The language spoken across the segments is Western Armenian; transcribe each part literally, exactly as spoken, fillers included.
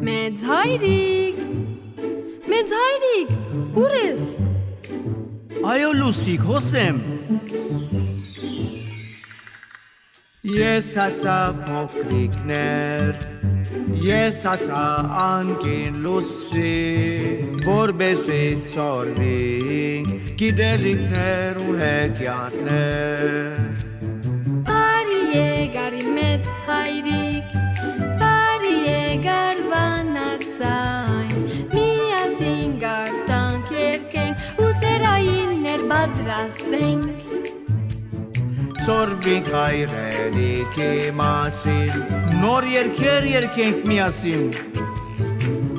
Մեծ հայրիկ, մեծ հայրիկ, ո՞ւր ես։ Այո, Լուսիկ, հոս եմ։ Ես ասա փոքրիկներ, ես ասա անկին Լուսի, որպեսզի սորվինք գիտելիքներ ու հեքիաթներ։ Բարի եկար իմ մեծ հայրիկ, բարի եկար վանաձայն, միասին գարտանք երգենք ու ծերայիններ պատրաստենք։ Սորվինք հայրենիքի մասին, նոր երգեր երգենք միասին։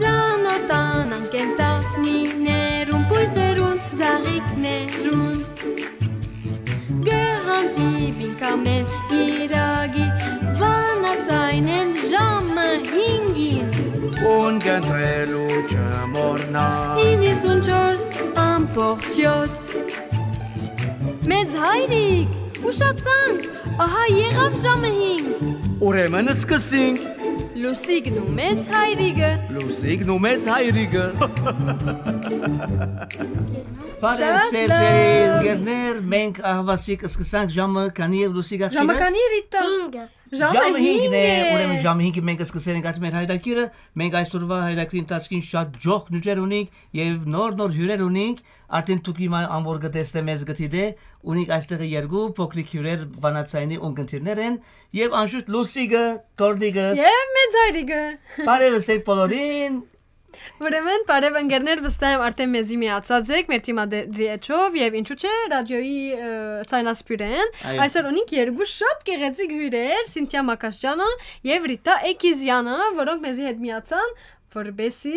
Ծանոթանանք կենդանիներուն, բոյսերուն, ծաղիկներուն։ Կը հանդիպինք ամէն կիրակի, վանաձայնէն ժամը հինգին։ Ուն կընտրելու չմոռնա։ Իննսունչորս ամբողջ յոթ։ Մեծ հայրիկ, ուշացանք, ահա եղաւ ժամը հինգ։ Ուրեմն սկսինք։ Լուսիկն ու մեծ հայրիկը։ Լուսիկն ու մեծ հայրիկը։ Բարև, շատ սիրելի լավ։ Ընկերներ, մենք ահավասիկ սկսանք, ժամը քանի է, Լուսիկ, աղջիկս? Ժամը քանի է, Ռիտա։ Հինգը։ Ժամը Ժամը հինգ հինգն է, է։ Ուրեմն ժամը հինգը մենք սկսել ենք արդեն մեր հայտագիրը։ Մենք այսօրվա հայտագիրի ընթացքին շատ ջող նիւթեր ունենք եւ նոր-նոր հիւրեր ունենք։ Արդեն դուք հիմա անոր կը տեսնէ, մեզ կը դիտէ, ունենք այստեղ երկու փոքրիկ հիւրեր, վանաձայնի ունկնդիրներ են, եւ անշուշտ Լուսիկը, Թորնիկս։ Եւ մեծ հայրիկը։ Բարեւս եք բոլորին։ Ուրեմն, բարեւ ընկերներ, վստահ եմ արդեն մեզի միացած եք մեր թիմադրի էջով եւ ինչու՞ չէ, ռադիոյի, ը, ցայնասփիւռէն։ Այո։ Այսօր ունենք երկու շատ գեղեցիկ հիւրեր, Սինթիա Մակաշճանը եւ Ռիտա Էքիզյանը, որոնք մեզի հետ միացան, որպեսի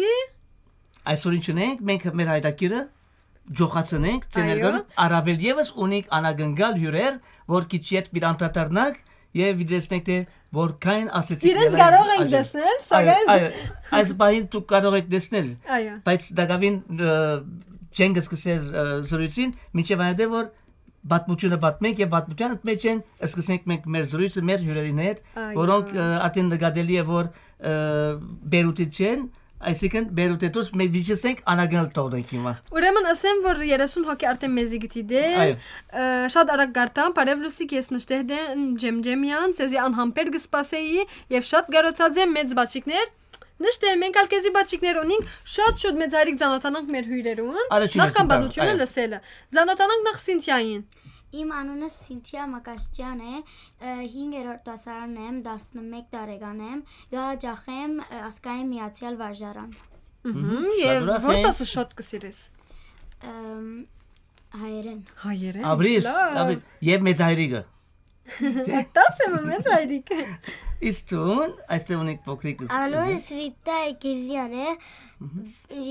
Այսօր ինչ ունենք, մենք մեր հայտագիրը ջոխացնենք, Այո։ Ցեներգան առավել եւս ունենք անակնկալ հիւրեր, որ քիչ յետ պիտի անդրադառնանք եւ պիտի տեսնենք, թե որքան աստեցիկ Իրենց եղան կարող ենք աջել։ Տեսնել, Այո, սակայն այո, այս պահին դուք կարող եք տեսնել, Այո։ բայց տակաւին, ը, չենք սկսել, ը, զրույցին, մինչեւ այն դե, որ պատմությունը պատմենք եւ պատմության մեջ են, սկսենք մենք մեր զրույցը մեր հիւրերին հետ, Այո։ Որոնք, ը, արդեն նկատելի է, որ, ը, Բերութից չեն, այսինքն Բերութէ դուրս մենք վիճեցենք անակնկալ թողնենք հիմա։ Ուրեմն ասեմ, որ երեսուն հոգի արդեն մեզի գտի դե, Այո։ Ը, շատ արագ գարտամ, բարև Լուսիկ, ես Նշտեհդէն Ջեմջեմեան, ձեզի անհամբեր կը սպասեի եւ շատ կարոցած եմ, մեծ բաչիկներ։ Նշտեհ, մենք ալ քեզի բաչիկներ ունենք, շատ շուտ մեծ հայրիկ ծանոթանանք մեր հիւրերուն, Առաջին նախքան աշտարակ, պատմությունը այո։ Լսելը։ Ծանոթանանք նախ Սինթիային։ Իմ անունս Սինթիա Մակաշճեան է, ը, հինգերորդ դասարանն եմ, տասնմէկ տարեկան եմ, կը հաճախեմ, ը, Ազգային Միացեալ վարժարան։ Մհմ, Մհմ, շատ եւ ուրախ որ ենք։ Տասը շատ կը սիրես։ Ըմ, հայերեն։ Հայերեն, Աբրիս, լավ։ Աբրիս, եւ մեծ հայրիկը։ Տաս եմ, մեծ հայրիկ։ Իսկ դուն, այստեղ ունենք փոքրիկս։ Անունս Ռիտա Էքիզյան է, Մհմ։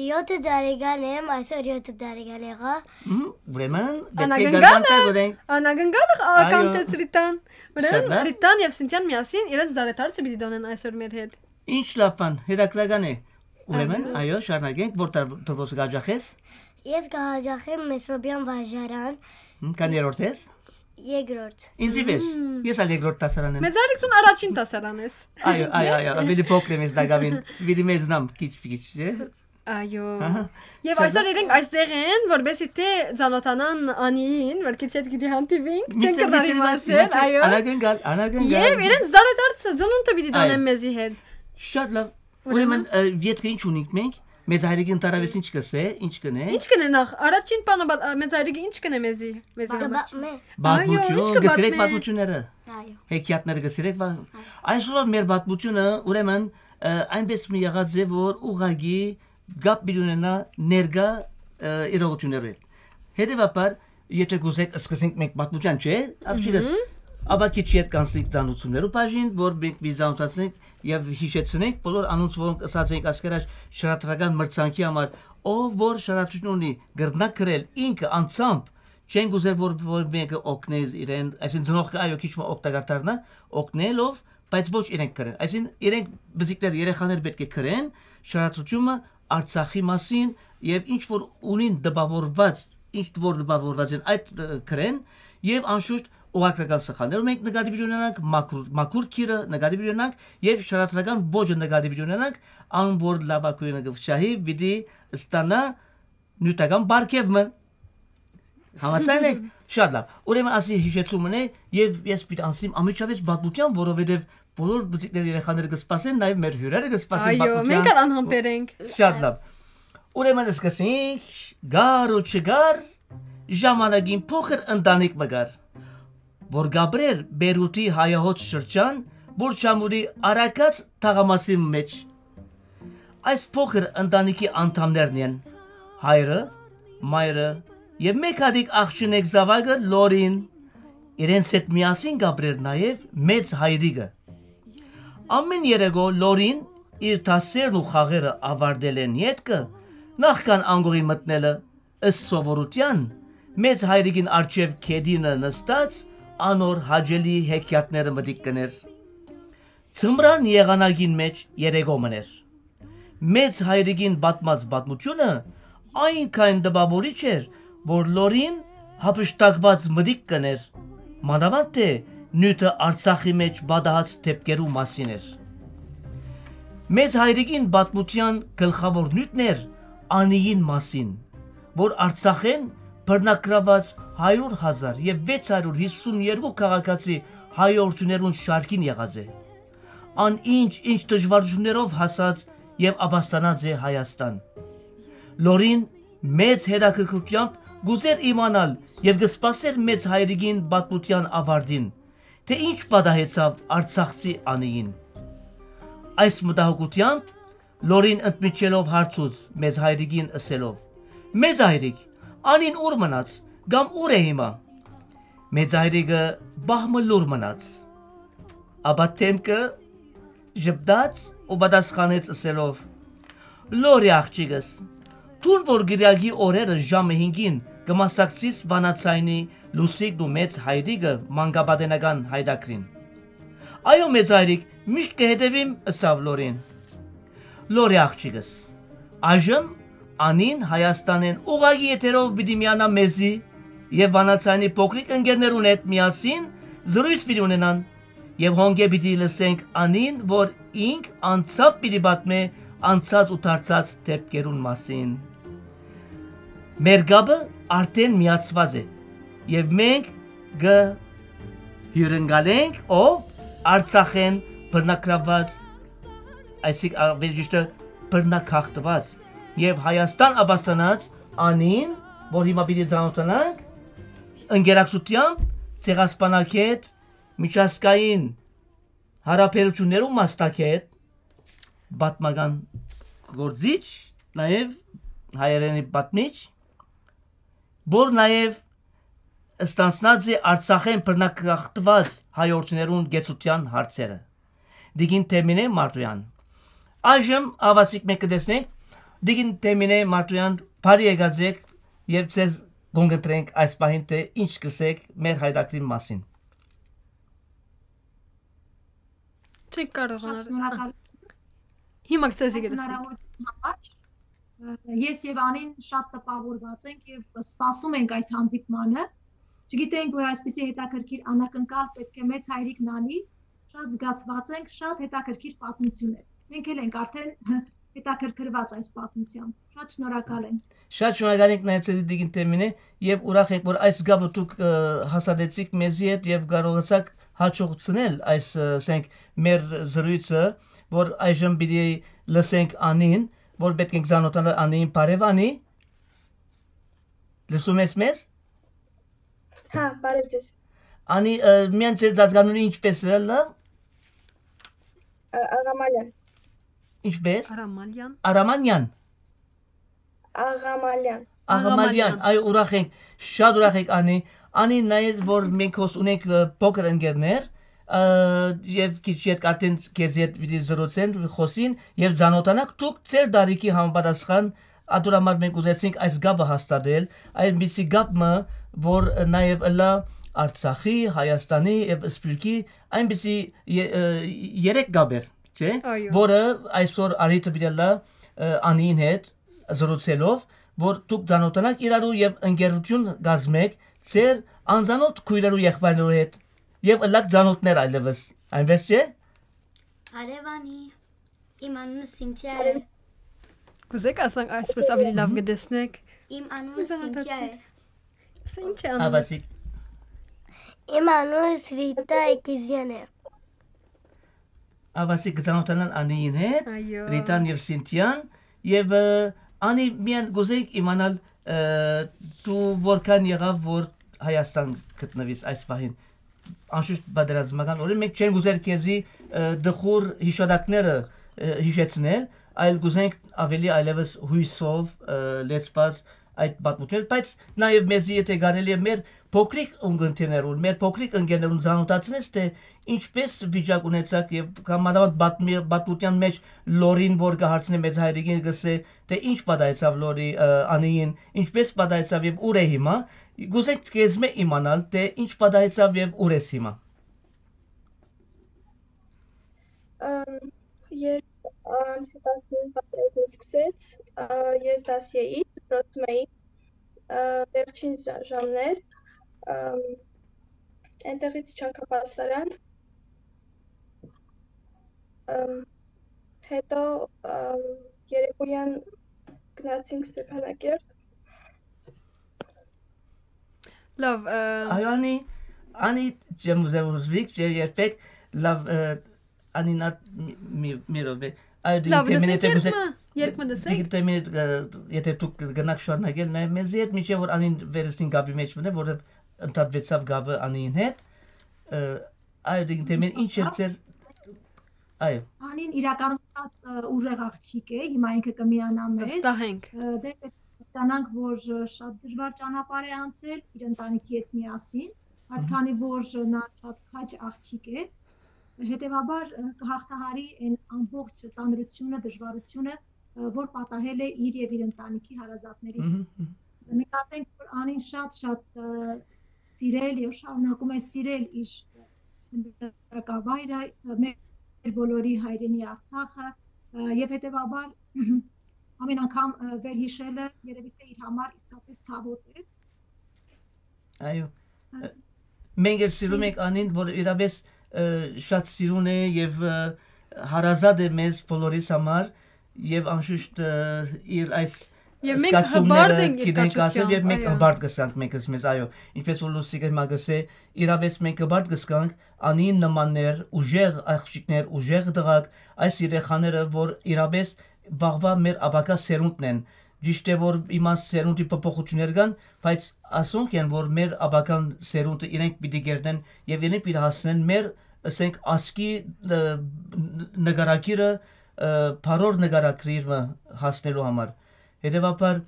Յոթը տարեկան եմ, այսօր յոթը տարեկան եղա։ Մհմ, ուրեմն, պետք է Անակնկալ գարվանք է, տակ ունենք։ Անակնկալ է, Այո։ Ականտեց Ռիտան։ Ուրեմն, Շատ լավ։ Ռիտան եւ Սինթիան միասին իրենց դարեդարձը պիտի դոնեն այսօր մեր հետ։ Ինչ լավ բան, հետաքրական է։ Ուրեմն, Այո։ Այո, շարունակենք, որ դար-, դրբոս կը հաճախես։ Ես կը հաճախեմ Մեսրոպեան վարժարան։ Հմ, քան երրորդ ես։ Երկրորդ։ Ինձի պես։ Մմ։ Ես ալ երկրորդ դասարան եմ։ Մեծ Արիքցուն առաջին դասարան ես։ Այո, այո, Չէ՞։ Այո, ավելի փոքր եմ ես դակավին, վիրի մեզնամ քիչ-քիչ, չէ՞։ Այո։ Ահա։ Եվ Շատ այսօր լավ։ Իրենք այստեղ են, որպեսզի թե ծանոթանան Անիին, որ քիչ հետ գիտի հանդիպինք, Մի չեն սեր, կրնար մի սեր, իմացել, մի սեր, այո։ Անակնկալ, անակնկալ։ Եվ իրենց զարդարցը ծնունդը պիտի Այո։ Տանեն մեզի հետ։ Շատ լավ։ Ուրեմն, Ուրեմն, ը, ետքը ինչ ունենք մենք, մեծ հայրիկին տարավես ինչ կսե, ինչ կնե։ Ինչ կնե նախ, առաջին բանը, բա-, ա, մեծ հայրիկը ինչ կնե մեզի, մեզի Բա-, համար։ Բա-, մե- Պատմություն, Այո, ինչ կը կսիրեք պատմե։ Պատմությունները։ Այո։ Հեքիաթները կսիրեք, բա-, Այո։ Այսօր մեր պատմությունը, ուրեմն, ը, այնպես մի եղած է, որ ուղղակի կապ պիտի ունենա ներկա, ը, իրողություններու հետ։ Հետևաբար, եթե կուզեք, սկսենք մենք պատմության, չէ՞, աղջիկս, Մհմ։ Ապա քիչ յետ կանցնենք ծանուցումներու բաժին, որ մենք մի ծանուցացնենք եւ հիշեցնենք բոլոր անոնց, որոնք ըսած ենք այսքան շարադրական մրցանքի համար, ով որ շարադրություն ունի, կրնա գրել ինքը անձամբ, չենք ուզեր, որ, որ մեկը օգնե իրեն, այսինքն ծնողքը, այո, քիչ մը օգտակար դառնա, օգնելով, բայց ոչ իրենք գրեն։ Այսինքն իրենք բզիկներ, երեխաներ պետք է գրեն շարադրությունը Արցախի մասին եւ ինչ որ ունին տպավորված, ինչ որ տպավորված են, այդ, ը, գրեն, եւ անշուշտ ուղղագրական սխալներով մենք նկատի պիտի ունենանք, մաքուր, մաքուր գիրը նկատի պիտի ունենանք եւ շարադրական ոճը նկատի պիտի ունենանք, ան որ լաւագոյնը կը վշահի, պիտի ստանայ նիւթական պարգեւ մը։ Համաձայն եք։ Շատ լաւ։ Ուրեմն ասի յիշեցում մնե, եւ ես պիտի անցնեմ անմիջապէս պատմութեան, որովհետեւ բոլոր բզիկները, երեխաները կը սպասեն, նաեւ մեր հիւրերը կը սպասեն։ Այո, պատմութեան։ Մենք ալ անհամբեր ենք։ Շատ լաւ։ Ուրեմն սկսենք, գար ու չգար, ժամանակին փոքր ընտանիք մը կար, որ կապրեր Բերութի հայահոց շրջան, Բուրչամուրի արագած թաղամասի մեջ։ Այս փոքր ընտանիքի անդամներն են հայրը, մայրը եւ մեկ հատիկ աղջինեկ զաւակը Լորին։ Իրենց հետ միասին կապրեր նաեւ մեծ հայրիկը։ Ամեն երեկո Լորին իր դասերն ու խաղերը ավարտելէն ետքը, նախքան անկողին մտնելը, ըստ սովորութեան, մեծ հայրիկին առջեւ գետինը նստած, անոր հաճելի հեքիաթները մտիկ կ'ընէր։ Ձմրան եղանակին մէջ երեկո մըն էր։ Մեծ հայրիկին պատմած պատմութիւնը այնքան տպաւորիչ էր, որ Լորին յափշտակուած մտիկ կ'ընէր, մանաւանդ թէ նիւթը Արցախի մէջ պատահած դէպքերու մասին էր։ Մեծ հայրիկին պատմութեան գլխաւոր նիւթն էր անիին մասին, որ Արցախէն բռնագրաւած հարիւր հազար եւ վեց հարիւր յիսուն երկու քաղաքացի հայորդիներուն շարքին եղած է։ Ան ինչ, ինչ դժուարութիւններով հասած եւ ապաստանած է Հայաստան։ Լորին մեծ հետաքրքրութեամբ կ'ուզէր իմանալ եւ կը սպասէր մեծ հայրիկին պատմութեան ավարտին, թէ ինչ պատահեցաւ արցախցի անիին։ Այս մտահոգութեամբ Լորին ընդմիջելով հարցուց մեծ հայրիկին ըսելով. «Մեծ հայրիկ, անին ո՞ւր մնաց, կամ ո՞ւր է հիմա»։ Մեծ հայրիկը պահ մը լուռ մնաց, ապա դէմքը ժպտաց ու պատասխանեց ըսելով. «Լորի աղջիկս, դուն որ կիրակի օրերը ժամը հինգին կը մասնակցիս Վանաձայնի Լուսիկն ու մեծ հայրիկը մանկապատենական յայտագրին»։ «Այո, մեծ հայրիկ, միշտ կը հետեւիմ», ըսաւ Լորին։ «Լորի աղջիկս, այժմ անին Հայաստանէն ուղղակի եթերով պիտի միանայ մեզի եւ Վանաձայնի փոքրիկ ընկերներուն հետ միասին զրոյց պիտի ունենան եւ հոնկէ պիտի լսենք անին, որ ինք անձամբ պիտի պատմէ անցած ու դարձած դէպքերուն մասին։ Մեր կապը արդէն միացուած է եւ մենք կը հիւրընկալենք, ով Արցախէն բռնագրաւուած, այսինքն, աւելի ճիշդը, բռնագաղթուած եւ Հայաստան ապաստանած անին, որ հիմա պիտի ծանօթանանք, ընկերակցութեամբ Ցեղասպանագէտ, միջազգային յարաբերութիւններու մասնագէտ, պատմական գործիչ, նաեւ հայերէնի պատմիչ, որ նաեւ ստանձնած է Արցախէն բռնագաղթուած հայորդիներուն կեցութեան հարցերը։ Տիկին Թեմինէ Մարտոյան։ Այժմ, ահաւասիկ, մենք կը տեսնենք, Տիկին Թեմինէ Մարտոյան, բարի եկած եք եւ ձեզ կ'ընտրենք այս պահին, թէ ինչ կ'ըսեք մեր յայտագրին մասին։ Չեք կարողանալ։ Շատ շնորհակալություն։ Հիմա ձեզի այս կտեսնենք։ Հնարավորության համար։ Ը, ես եւ Անին շատ տպավորված ենք եւ սպասում ենք այս հանդիպմանը։ Չգիտենք, որ այսպիսի հետաքրքիր անակնկալ պէտք է մեծ հայրիկն անի, շատ զգացված ենք, շատ հետաքրքիր պատմություն է։ Մենք էլ ենք արդեն հետաքրքրված այս պատմությամբ։ Շատ շնորհակալ եմ։ Շատ շնորհակալ ենք նաև ձեզի, Տիկին Թեմինե, եւ ուրախ ենք, որ այս գավը դուք, ը, հաստատեցիք մեզի հետ եւ կարողացաք հաջողցնել այս, ը, ասենք, մեր զրույցը, որ այժմ պիտի լսենք Անին, որ պետք ենք ծանոթանալ Անին, բարեւ Անի, լսում ես մեզ։ Հա, բարև ձեզ։ Անի, ը, միան ձեր ծածկանունը ինչպես է, լա։ Ա-, Աղամալյան։ Ինչպես։ Արամալյան։ Արամանյան։ Աղամալյան։ Աղամալյան, Աղամալյան։ Այո, ուրախ ենք, շատ ուրախ ենք, Անի։ Անի, նայես, որ մենք հոս ունենք, ը, փոքր ընկերներ, ը, եւ քիչ յետ արդեն քեզի հետ պիտի զրուցեն, խոսին եւ ծանոթանաք, դուք ձեր դարիքի համապատասխան, ատոր համար մենք ուզեցինք այս գաբը հաստատել, այնպիսի գաբ մը, որ նաեւ ըլլայ Արցախի, Հայաստանի եւ Սփյուռքի, այնպիսի ե-, ը, երեք գաբեր, չէ՞, այո, որը այսօր առիթը պիտի ըլլայ, ը, Անիին հետ զրուցելով, որ դուք ծանոթանաք իրարու եւ ընկերություն կազմեք ձեր անծանոթ քոյրերու, եղբայրներու հետ եւ ըլլաք ծանոթներ այլեւս։ Այնպես չէ՞։ Արեւանի, իմ անունը Սինթիա է։ Կուզեք ասենք այսպես ավելի լավ կտեսնեք։ Իմ անունը Սինթիա է։ Սա ի՞նչ է անում։ Աբասիկ։ Իմ անունս Ռիտա Էկիզյան է։ Աբասիկ կծանոթանան Անիին հետ, այո, Ռիտան եւ Սինթիան, եւ, ը, Անի, միայն կուզենք իմանալ, ը, դու որքան եղաւ, որ Հայաստան գտնվիս այս պահին, անշուշտ պատերազմական օրերին, մենք չենք ուզեր քեզի, ը, դխուր հիշատակները, ը, հիշեցնել, այլ կուզենք ավելի այլեւս յոյսով, ը, լեցված այդ պատմությունը, բայց նաեւ մեզի, եթե կարելի է, մեր փոքրիկ ունգընտիրներուն, մեր փոքրիկ ընկերներուն ծանոթացնես, թե ինչպես վիճակ ունեցաք եւ կամ մանավանդ պատմի-, պատմության մեջ Լորին, որ կը հարցնէ մեծ հայրիկին, կսե, թե ինչ պատահեցաւ Լորի, ը, Անիին, ինչպես պատահեցաւ եւ ուր է հիմա, կուզենք քեզմէ իմանալ, թե ինչ պատահեցաւ եւ ուր ես հիմա։ Ըմ, երբ, ըմ, ամսի տասնինը պատերազմը սկսեց, ը, ես դասի էի, դպրոցում էի, ը, վերջին ժա-, ժամներ, ըմ, այնտեղից չանցա պաստարան, ըմ, հետո, ըմ, երեկոյան գնացինք Ստեփանակերտ։ Լավ, ը, Այո, Անի, Անի, չեմ ուզեր ուզվիք, չէ, երբեք, լավ, ը, Անի, նա, մի, մի, մի րոպե։ Այո, դու լավ, դիգ թեմին լսենք, եթե կուզե-, երգը, երգը լսենք։ Դիգ թեմին, ը, եթե դուք գնաք շարունակել, նայ մեզի հետ, մինչեւ որ Անին վերստին կապի մեջ մնա, որովհետեւ ընդհատվեցավ կապը Անիին հետ, ը, այո, դիգ թեմին, ինչ էր ձեր, այո։ Անին իրականում շատ, ը, ուժեղ աղջիկ է, հիմա ինքը կը միանայ մեզ։ Վստահ ենք։ Ը, դե, հասկանանք, որ, ը, շատ դժվար ճանապարհ է անցել, իր ընտանիքի հետ միասին, բայց Մհմ։ քանի որ, ը, նա շատ քաջ աղջիկ է, հետեւաբար, ը, կը հաղթահարի այն ամբողջ ծանրությունը, դժվարությունը, ը, որ պատահել է իր եւ իր ընտանիքի հարազատների հետ։ Մհմ, մհմ։ Նկատենք, որ Անին շատ, շատ, ը, սիրել եւ շարունակում է սիրել իր հրակավայրը, ը, մեր բոլորի հայրենի Արցախը, ը, եւ հետեւաբար ամեն անգամ, ը, վերհիշելը երևի թե իր համար իսկապես ցաւոտ է։ Այո։ Ը, մենք էլ սիրում ենք Անին, որ իրապես, ը, շատ սիրուն է եւ, ը, հարազատ է մեզ բոլորիս համար, եւ անշուշտ, ը, իր այս Եւ մենք զգացումները հպարտ ենք իր գիտենք ասել, կացությամբ, եւ մենք այո։ հպարտ կսանք մեկս մեզ, այո, ինչպես որ Լուսիկը հիմա գսե, իրապես մենք հպարտ կսկանք Անին նմաններ, ուժեղ աղջիկներ, ուժեղ տղաք, այս երեխաները, որ իրապես վաղվա մեր ապագա սերունդն են։ Ճիշդ է, որ հիմա սերունդի փոփոխություններ կան, բայց ասոնք են, որ մեր ապագան սերունդը իրենք պիտի կերտեն եւ իրենք պիտի հասնեն մեր, ասենք, ազգի, ը, ն-, նկարագիրը, ը, բարոր նկարագիրը հասնելու համար։ Հետեւաբար,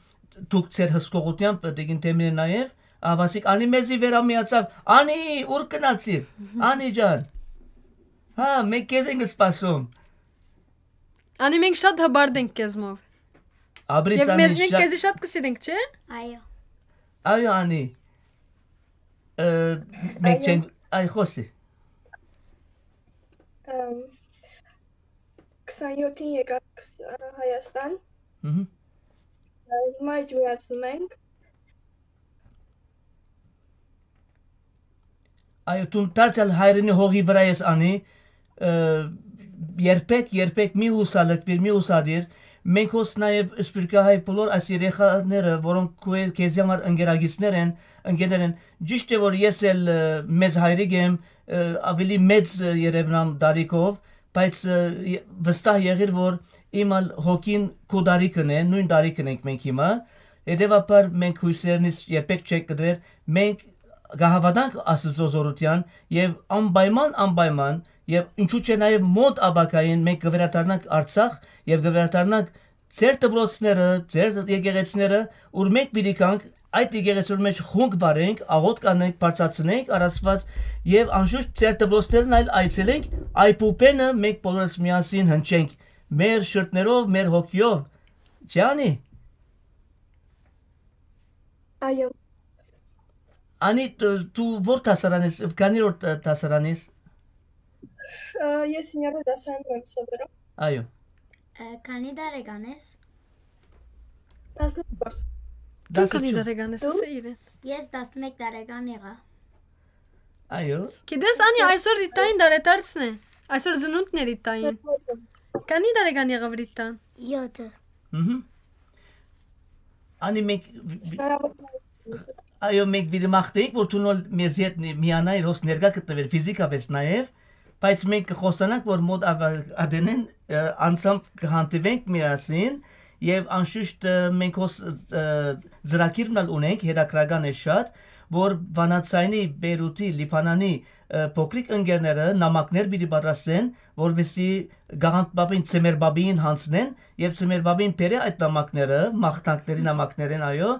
դուք ձեր հսկողությամբ պիտի ընդդեմին նաեւ, ահա ասիկ, Անի մեզի վերամիացաւ, Անի, ուր գնացիր, Անի ջան, հա, մենք քեզ ենք սպասում։ Անի, մենք շատ հպարտ ենք քեզմով։ Ապրիս, Եւ Անի, մեզ, մենք շա-, քեզի շատ կսիրենք, չէ՞։ Այո։ Այո, Անի, ը, մենք Այո։ չենք, այ, խոսի։ Ըմ, քսանյոթին եկանք, ը, Հայաստան։ Մհմ։ Ը, հիմա իջուրացնում ենք։ Այո, դու դարձյալ հայրենի հողի վրայ ես, Անի, ը, երբեք, երբեք մի հուսալքվիր, մի հուսադիր։ Մենք հոս նաև սփյուռքահայ բոլոր այս երեխաները, որոնք քո-, քեզի համար ընկերագիցներ են, ընկերներ են, ճիշդ է, որ ես էլ, ը, մեծ հայրիկ եմ, ը, ավելի մեծ, ը, երևնամ տարիքով, բայց, ը, ե-, վստահ եղիր, որ իմ ալ հոգին քո տարիքն է, նույն տարիքն ենք մենք հիմա, հետևաբար մենք հույսերնից երբեք չենք կտրեր, մենք կհավատանք Աստծո զորության եւ անպայման, անպայման, եւ ինչու՞ չէ, նաեւ մոտ ապագային մենք կվերադառնանք Արցախ եւ կվերադառնանք ձեր դպրոցները, ձեր եկեղեցիները, ուր մենք պիտի գանք, այդ եկեղեցիներու մեջ խունկ վարենք, աղոթք անենք, բարձրացնենք առ Աստված եւ անշուշտ ձեր դպրոցներն այլ այցելենք, այ պուպենը մենք բոլորս միասին հնչենք, մեր շրթներով, մեր հոգիով, չէ՞ Անի։ Այո։ Անի, դու, դու ո՞ր դասարան ես, քանի՞ որ դ-, դասարան ես։ Ա, ես հինգերորդ դասարանում եմ սովորում։ Այո։ Ա, քանի՞ տարեկան ես։ Տասներկու։ Դու քանի տարեկան ես, դու ասա իրեն։ Ես տասնմեկ տարեկան եղա։ Այո։ Գիտես, Անի, այսօր Ռիտային տարեդարձն է։ Այսօր ծնունդն է Ռիտային։ Քանի տարեկան եղավ Ռիտան։ Յոթը։ Մհմ։ Անի, մենք, Սարավոտ այո, մենք պիտի մաղթենք, որ դուն ալ մեզի հետ միանայիր, հոս ներկայ գտնուիր ֆիզիկապէս նաեւ, բայց մենք կխօսանանք, որ մօտ ատենէն անցամբ կհանդիպենք միասին, եւ անշուշտ մենք հոս ծրագիրն ալ ունենք, հետաքրական է շատ, որ Վանաձայնի, Բեյրութի, Լիբանանի փոքրիկ ընկերները նամակներ պիտի պատրաստեն, որպեսզի գաղանդպապին, ծմերբաբին հանձնեն, եւ ծմերբաբին բերէ այդ նամակները, մաղթանքների նամակներ են, այո,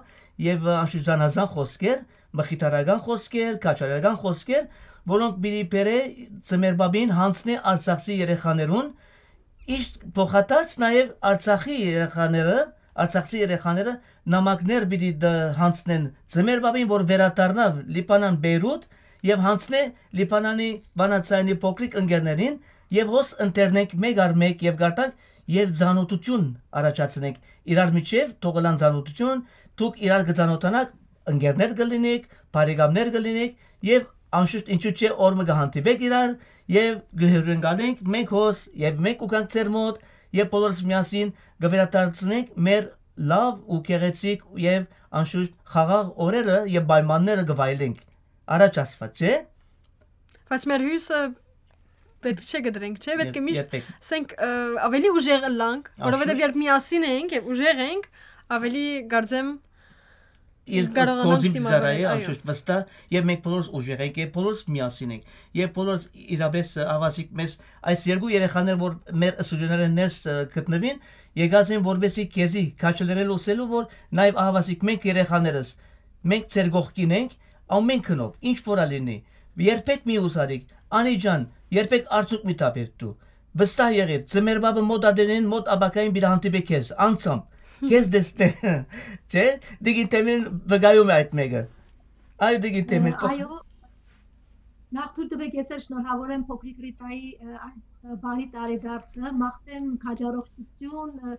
եւ անշուշտ զանազան խօսքեր, մխիթարական խօսքեր, քաջալերական խօսքեր, որոնք պիտի բերէ ծմերբաբին, հանձնէ արցախցի երեխաներուն, իսկ փոխադարձ նաեւ Արցախի երեխաները, արցախցի երեխաները նամակներ պիտի դ-, հանձնեն ծմերբաբին, որ վերադառնա Լիբանան, Բեյրութ, եւ հանձնէ Լիբանանի Վանաձայնի փոքրիկ ընկերներին, եւ հոս ընտրենք մէկ առ մէկ եւ գարտանք եւ ծանոթութիւն առաջացնենք իրար միջեւ, թող ըլլան ծանոթութիւն, դուք իրար կը ծանոթանաք, ընկերներ կը լինեք, բարեկամներ կը լինեք, եւ անշուշտ ինչու՞ չէ, օր մը կը հանդիպեք իրար եւ կը հիւրընկալենք մենք հոս եւ մենք կու գանք ձեր մօտ, եւ բոլորս միասին կը վերադարձնենք մեր լաւ ու գեղեցիկ եւ անշուշտ խաղաղ օրերը եւ պայմանները կը վայելենք։ Առաջ ասված, չէ՞։ Բայց մեր հոյսը պէտք չէ կտրենք, չէ՞, պէտք է Եր-, միշտ երբեք։ Սենք, ը, ավելի ուժեղ ըլլանք, որովհետեւ Անշուշտ։ Երբ միասին ենք եւ ուժեղ ենք, ավելի, կարծեմ, իր կարողանանք գործին դիմավորել, ծառայել, այո։ Անշուշտ վստահ, եւ մենք բոլորս ուժեղ ենք, եւ բոլորս միասին ենք, եւ բոլորս իրապես, ը, ավազիկ մեզ, այս երկու երեխաներ, որ մեր ստուդիաներէն ներս, ը, գտնուին, եկած են որպեսզի քեզի քաջալերել, ուսելու, որ նաեւ ավազիկ մենք երեխաներս, մենք ձեր կողքին ենք, ամէն գնով, ինչ որ ալ լինի, երբեք մի ուսարիք, Անի ջան, երբեք արցունք մի թափիր դու, վստահ եղիր, ծմերբաբը մօտ ատենէն, մօտ ապագային պիտի հանդիպէ քեզ, անցամբ, քեզ տեսնէ, չէ՞, դիգին թեմին վկայում է այդ մեկը, այո, դիգին թեմին, փոխ- Այո, նախ թույլ տվեք ես էլ շնորհավորեմ փոքրիկ Ռիտայի, ը, այդ, ը, բարի տարեդարձը, մաղթեմ քաջառողջություն, ը,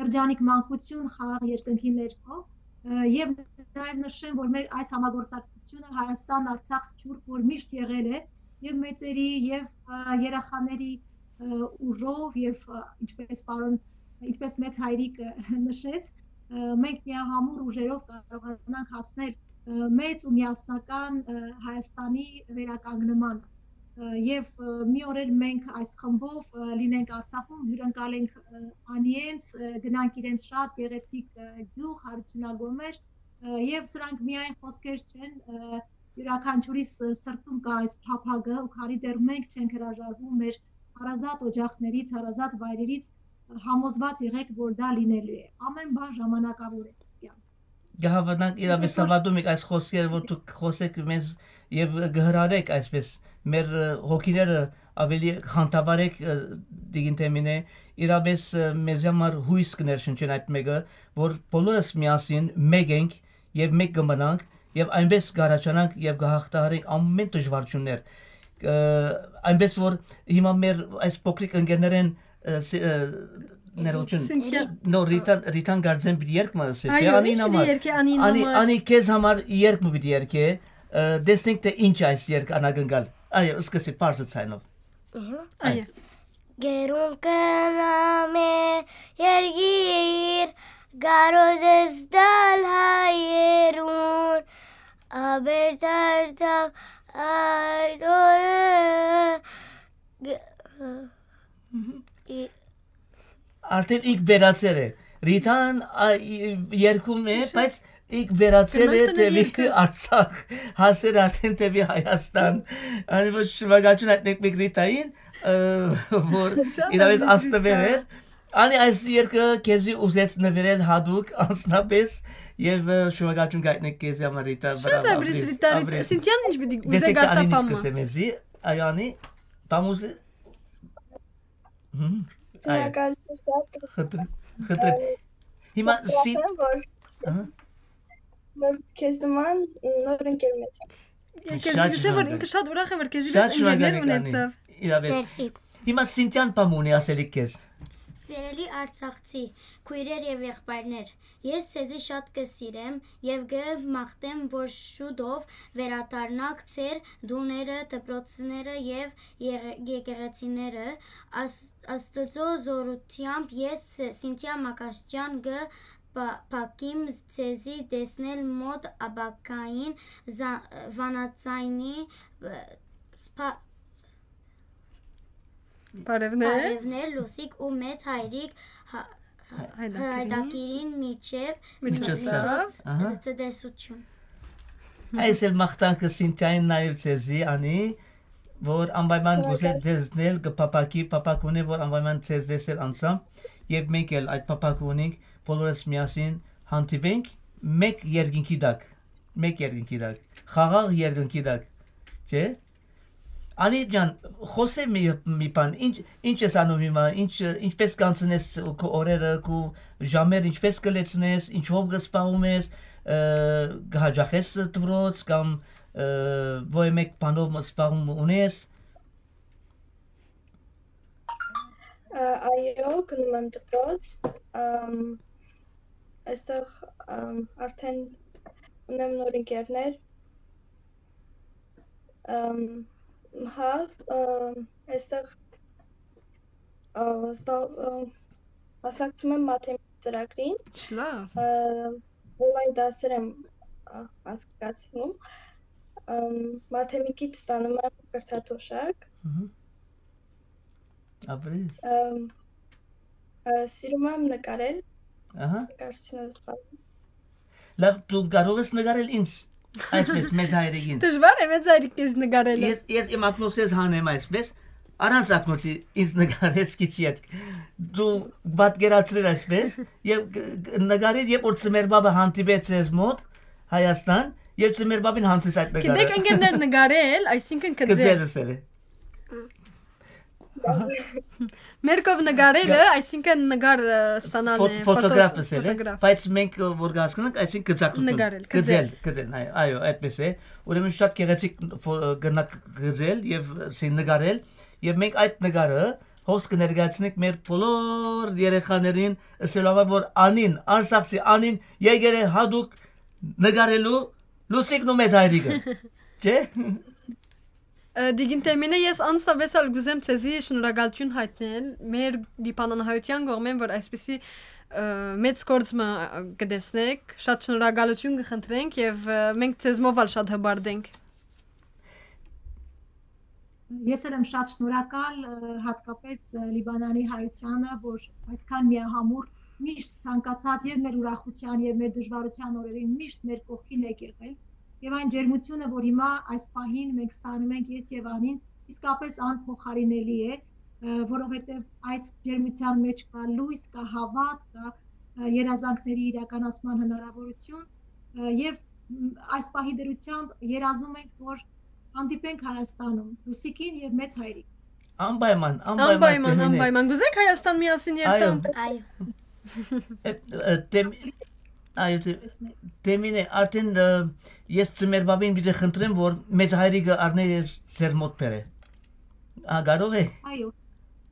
երջանիկ մանկություն խաղաղ երկնքի ներքո, ը, եւ նաեւ նշեմ, որ մեր այս համագործակցությունը Հայաստան-Արցախ-Սփիւռք, որ միշտ եղել է, եւ մեծերի, եւ, ը, երեխաների, ը, ուժով, եւ, ը, ինչպես պարոն, ինչպես մեծ հայրիկը նշեց, ը, մենք միահամուռ ուժերով կարողանանք հասնել, ը, մեծ ու միասնական, ը, Հայաստանի վերականգնմանը։ Ը, եւ, ը, մի օր էլ մենք այս խմբով, ը, լինենք Արցախում, հիւրընկալենք, ը, Անիենց, ը, գնանք իրենց շատ գեղեցիկ, ը, գիւղ, Հարությունագոմեր, ը, եւ սրանք միայն խօսքեր չեն, ը, իւրաքանչիւրիս, ը, սրտում կա այս փափագը ու քանի դեռ մենք չենք հրաժարվում մեր հարազատ օջախներից, հարազատ վայրերից, ը, համոզված եղեք, որ դա լինելու է։ Ամեն բան ժամանակավոր է, Սքյան։ Կհաւատանք իրապես, Դե, սա- Սավատում եք այս խոսքերը, որ դուք կխօսեք մեզ եւ կհրարեք այսպես մեր, ը, հոգիները ավելի խանդավառեք, ը, դիգին թեմին է, իրապես, ը, մեզ համար հույս կներշնչեն այդ մեկը, որ բոլորս միասին մեկ ենք եւ մեկ կմնանք եւ այնպես կառաջանանք եւ կհաղթահարենք ամեն դժվարություններ։ Ը, այնպես որ հիմա մեր այս փոքրիկ ընկերներեն, ը, ս-, ը, ներողություն։ Սինթիա։ Նո, Ռիտան, Ռիտան գարձեն պիտի երգ մը ասի, Այո, չէ՞, Անին ինչ պիտի համար։ Երգե Անին Անի, համար։ Անի քեզ համար երգ մը պիտի երգե, ը, տեսնենք թե ինչ այս երգ անակնկալ։ Այո, սկսի պարզը ցայնով։ Ըհը։ Այո։ Գերուն կնամ է երգիր, կարոտ ես տալ հայերուն, աբերդարդավ այդ օրը, գ-, Մհմ։ ի- Արդեն ինք վերացել է։ Ռիտան, ա, ի- երկում է, բայց ինք վերացել է Գնանք տանը դեպի երկը։ Արցախ, հասել արդեն դեպի Հայաստան։ Անի ոչ շնորհակալություն հայտնենք մենք Ռիտային, ը, որ Շատ իրավես ազդեցիկ աստվեր Ռիտա։ Էր։ Անի այս երկը քեզի ուզեց նվիրել հատուկ անձնապես եւ, ը, շնորհակալություն կայտնեք քեզի համար, Ռիտա, Շատ բրավո, աբրիս, ապրես, Ռիտա, Ռիտա, ապրես։ Սինթիան ինչ պիտի ուզե Դեսեք, գարտա Անին ինչ պամը։ Կսե մեզի, այո, Անի, պամ ուզե-, Հմ, այո։ Շնորհակալություն շատ։ Խնդրեմ, խնդրեմ։ Հիմա Շատ սին-, ուրախ եմ, որ ահա։ Որ քեզ նման նոր ընկեր ունեցա։ Քեզ Շատ գսե, որ շնորհակալ։ Ինքը շատ ուրախ է, որ քեզ Շատ իրենց ընկերներ շնորհակալ ենք, Անի, ունեցավ։ Իրավես։ Մերսի։ Հիմա Սինթիան պամ ունի ասելիք քեզ։ Սիրելի Արցախցի քոյրեր եւ եղբայրներ, ես ձեզի շատ կը սիրեմ եւ կը մաղթեմ, որ շուտով վերադառնաք ձեր տուները, դպրոցները եւ եղե-, եկեղեցիները։ Աս-, Աստուծոյ զօրութեամբ ես Սինթիա Մակաշճեան կը պա-, փակեմ ձեզի տեսնել մօտ ապագային զա-, վանաձայնի, ը, պա-, Բարեւներ։ Բարեւներ, Լուսիկ ու մեծ հայրիկ հա-, հա-, Հայդակիրին։ Հայդակիրին միջեւ Միջոցով։ Միջոց Ահա։ Ցտեսություն։ Այս էլ մաղթանքը Սինթիային նաեւ ձեզի անի, որ անպայման Շնորհակալ։ Գուզե տեսնել, կը փափաքի, փափաք ունի, որ անպայման ձեզ տեսնել անձամբ, եւ մենք էլ այդ փափաքը ունենք, բոլորս միասին հանդիպենք մեկ երկնքի տակ, մեկ երկնքի տակ, խաղաղ երկնքի տակ, չէ՞։ Անի ջան, խոսե մի, մի բան, ինչ, ինչ ես անում հիմա, ինչ, ինչպես կանցնես քո օրերը, քո ժամեր, ինչպես կը լեցնես, ինչով կը զբաղվում ես, ը, կը հաճախես դպրոց կամ, ը, ոյ մեկ բանով զբաղվում ունես։ Ա, այո, գնում եմ դպրոց, ըմ, այստեղ, ըմ, արդեն ունեմ նոր ընկերներ, ըմ, հա, ը, այստեղ, ը, զբաղ-, ը, մասնակցում եմ մաթեմի ծրագրին, Շլա։ ը, օնլայն դասեր եմ, ա, անցկացնում, ըմ, մաթեմիկից ստանում եմ կրթաթոշակ։ Ահա։ Ապրես։ Ըմ, ը, սիրում եմ նկարել, Ահա։ Նկարչությունով զբաղվում։ Լավ, դու կարող ես նկարել ինձ, այսպես, մեծ հայրիկին։ Դժվար է մեծ հայրիկ քեզ նկարելը։ Ես, ես իմ ակնոցս հանեմ այսպես, առանց ակնոցի ինձ նկարես քիչ յետ։ Դու պատկերացրիր այսպես, եւ կ-, կ-, նկարիր, երբ որ ծմերբաբը հանդիպեց ես մոտ, Հայաստան, եւ ծմերբաբին հանցես այդ նկարը։ Գիտեք, ընկերներ, նկարել, այսինքն կծել։ Կծել ըսել է։ Ահա։ Մեր կով նկարելը, Գա- այսինքն նկար, ը, ստանալն Ֆո-, է, ֆոտոգրաֆ ֆոտո-, ըսել է, ֆոտոգրաֆ։ Բայց մենք, ը, որ կհասկանանք, այսինքն գծակցություն։ Նկարել, կծել, կծել։ Կծել, այ-, այո, այդպես է։ Ուրեմն շատ գեղեցիկ ֆո-, ը, կրնակ գծել եւ, ը, սի նկարել, եւ մենք այդ նկարը հոս կներկայացնենք մեր բոլոր երեխաներին, ըսելով, որ անին, արցախցի անին եկել է հատուկ նկարելու Լուսիկն ու մեծ հայրիկը, չէ՞։ Ը, Տիկին Թեմինե, ես անսապէս ալ կ'ուզեմ ձեզի շնորհակալութիւն յայտնել մեր լիբանանահայութեան կողմէն, որ այսպիսի, ը, մեծ գործ մը, ը, կը տեսնէք, շատ շնորհակալութիւն կը խնդրենք եւ, ը, մենք ձեզմով ալ շատ հպարտ ենք։ Ես էլ եմ շատ շնորհակալ, ը, հատկապես, ը, Լիբանանի հայությանը, որ այսքան միահամուռ միշտ ցանկացած եւ մեր ուրախության, եւ մեր դժվարության օրերին միշտ մեր կողքին եք եղել։ Եվ այն ջերմությունը, որ հիմա այս պահին մենք ստանում ենք ես եւ Անին, իսկապես անփոխարինելի է, ը, որովհետեւ այդ ջերմության մեջ կա լոյս, կա հաւատ, կա, ը, երազանքների իրականացման հնարավորություն, ը, եւ, մ, այս պահի դրությամբ երազում ենք, որ հանդիպենք Հայաստանում, Լուսիկին եւ մեծ հայրիկ։ Անպայման, անպայման, Անպայման, Թեմինե։ Անպայման։ Կուզեք Հայաստան միասին Այո։ երթանք։ Այո։ Ը, ը, Թեմ-, այո, Թե-, Տեսնել։ Թեմինե, արդեն, ը, ես ծմերբաբին պիտի խնդրեմ, որ մեծ հայրիկը առնէ եւ ձեր մոտ բերէ։ Ա, կարող է։ Այո,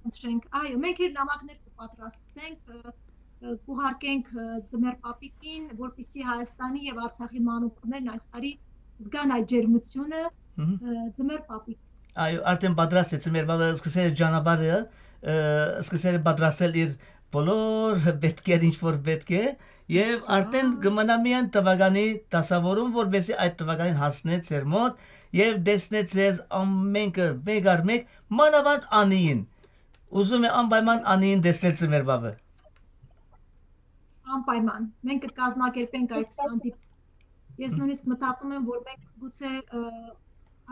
խնդրենք, այո, մենք իր նամակներ կպատրաստենք, ը, ը, կուղարկենք, ը, ծմեր պապիկին, որպեսզի Հայաստանի եւ Արցախի մանուկներն այս տարի զգան այդ ջերմությունը, Մհմ։ ը, ծմեր պապիկ։ Այո, արդեն պատրաստ է ծմեր պապը, սկսել է ճանապարհը, ը, սկսել է պատրաստել իր բոլոր պետքեր, ինչ որ պետք է, եւ Ահա։ արդեն կմնա միայն թվականի դասավորում, որպեսզի այդ թվականին հասնե ձեր մոտ եւ տեսնե ձեզ ամենքը, մեկ առ մեկ, մանավանդ Անիին։ Ուզում է անպայման Անիին տեսնել ծմեր պապը։ Անպայման։ Մենք կկազմակերպենք այդ Կասկած- հանդիպ-, ես նույնիսկ մտածում եմ, որ մենք գուցե, ը,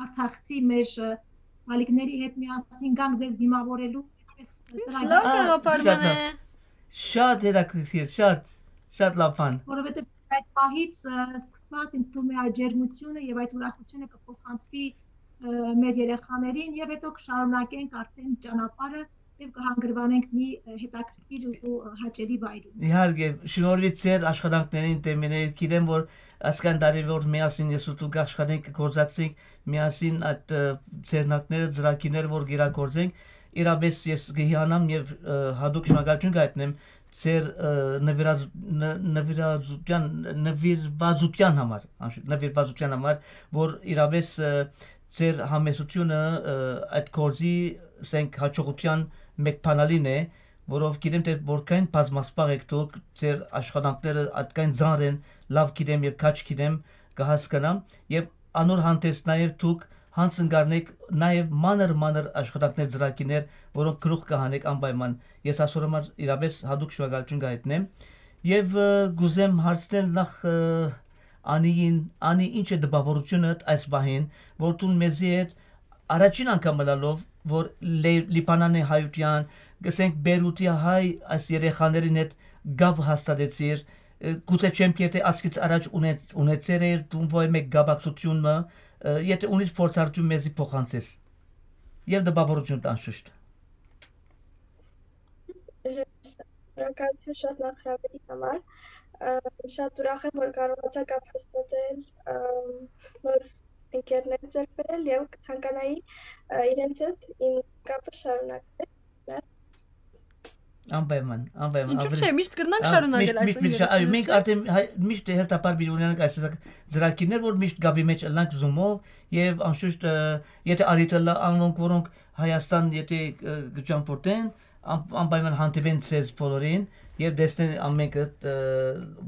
արցախցի մեր, ը, ալիքների հետ միասին գանք ձեզ դիմավորելու այդպես Ինչ ծրագիր։ լավ Ա, գաղափար շատ մնե։ լավ։ Շատ հետաքրքիր, շատ, շատ լավ բան։ Որովհետև այդ պահից, ը, սկսված ինձ թվում է այդ ջերմությունը և այդ ուրախությունը կփոխանցվի, ը, մեր երեխաներին և հետո կշարունակենք արդեն ճանապարհը և կհանգրվանենք մի, ը, հետաքրքիր ու, ը, հաճելի վայրում։ Իհարկե, շնորհիվ ձեր աշխատանքներին, Թեմինե, գիտեմ, որ այսքան տարի որ միասին ես ու դուք աշխատենք, կգործակցենք միասին այդ, ը, ձեռնարկները, ծրագիրները, որ կիրագործենք, Իրապէս ես կը հիանամ եւ, ը, յատուկ շնորհակալութիւն կայտնեմ ձեր, ը, նվիրազ-, ն-, նվիրազության, նվիրվածության համար, անշուշտ, նվիրվածության համար, որ իրապէս, ը, ձեր համեստությունը, ը, այդ գործի, ասենք, հաջողության մէկ բանալին է, որով գիտեմ, թե որքան բազմասպաղ եք դուք, ձեր աշխատանքները այդքան ծանր են, լաւ գիտեմ եւ քաջ գիտեմ, կը հասկնամ, եւ անոր հանդերձ նաեւ դուք յանձն կ'առնէք նաեւ մանր-մանր աշխատանքներ, ծրագիրներ, որոնք գլուխ կը հանէք անպայման։ Ես ասոր համար իրապէս յատուկ շնորհակալութիւն կայտնեմ։ Եւ, ը, կ'ուզեմ հարցնել նախ, ը, Անիին, Անի, ի՞նչ է տպաւորութիւնդ այս պահին, որ դուն մեզի հետ առաջին անգամ ըլալով, որ Լե-, Լիբանանի հայութեան, կ'ըսենք, Բեյրութի հայ այս երեխաներուն հետ կապ հաստատեցիր, ը, գուցե չեմ կերտի, ասկից առաջ ունեց-, ունեցեր էր դուն ոյ մէկ կապակցութիւն մը, ը, եթե ունիս փորձառութիւն մեզի փոխանցես։ Եւ տպաւորութիւն տանշուշտ։ Շնորհակալություն շատ նախ հրավերի համար։ Ը, շատ ուրախ եմ, որ կարողացա կապ հաստատել, ը, նոր ընկերներ ձեռք բերել եւ կցանկանայի, ը, իրենց հետ իմ կապը շարունակել։ Անպայման, անպայման, Ինչու՞ աւելի չէ, միշտ կրնանք ա, շարունակել միշտ, այս միշտ, միշտ, այո, մենք ընկերությունը։ արդեն հայ-, միշտ հերթապար պիտի ունենանք այս տեսակ ծրագիրներ, որ միշտ կապի մեջ ըլլանք Zoom-ով եւ անշուշտ, ը, եթե առիթ ըլլայ անոնք, որոնք Հայաստան, եթե, ը, կճամփորդեն, ան-, անպայման հանդիպեն ձեզ բոլորին եւ տեսնեն ամենքը, ը,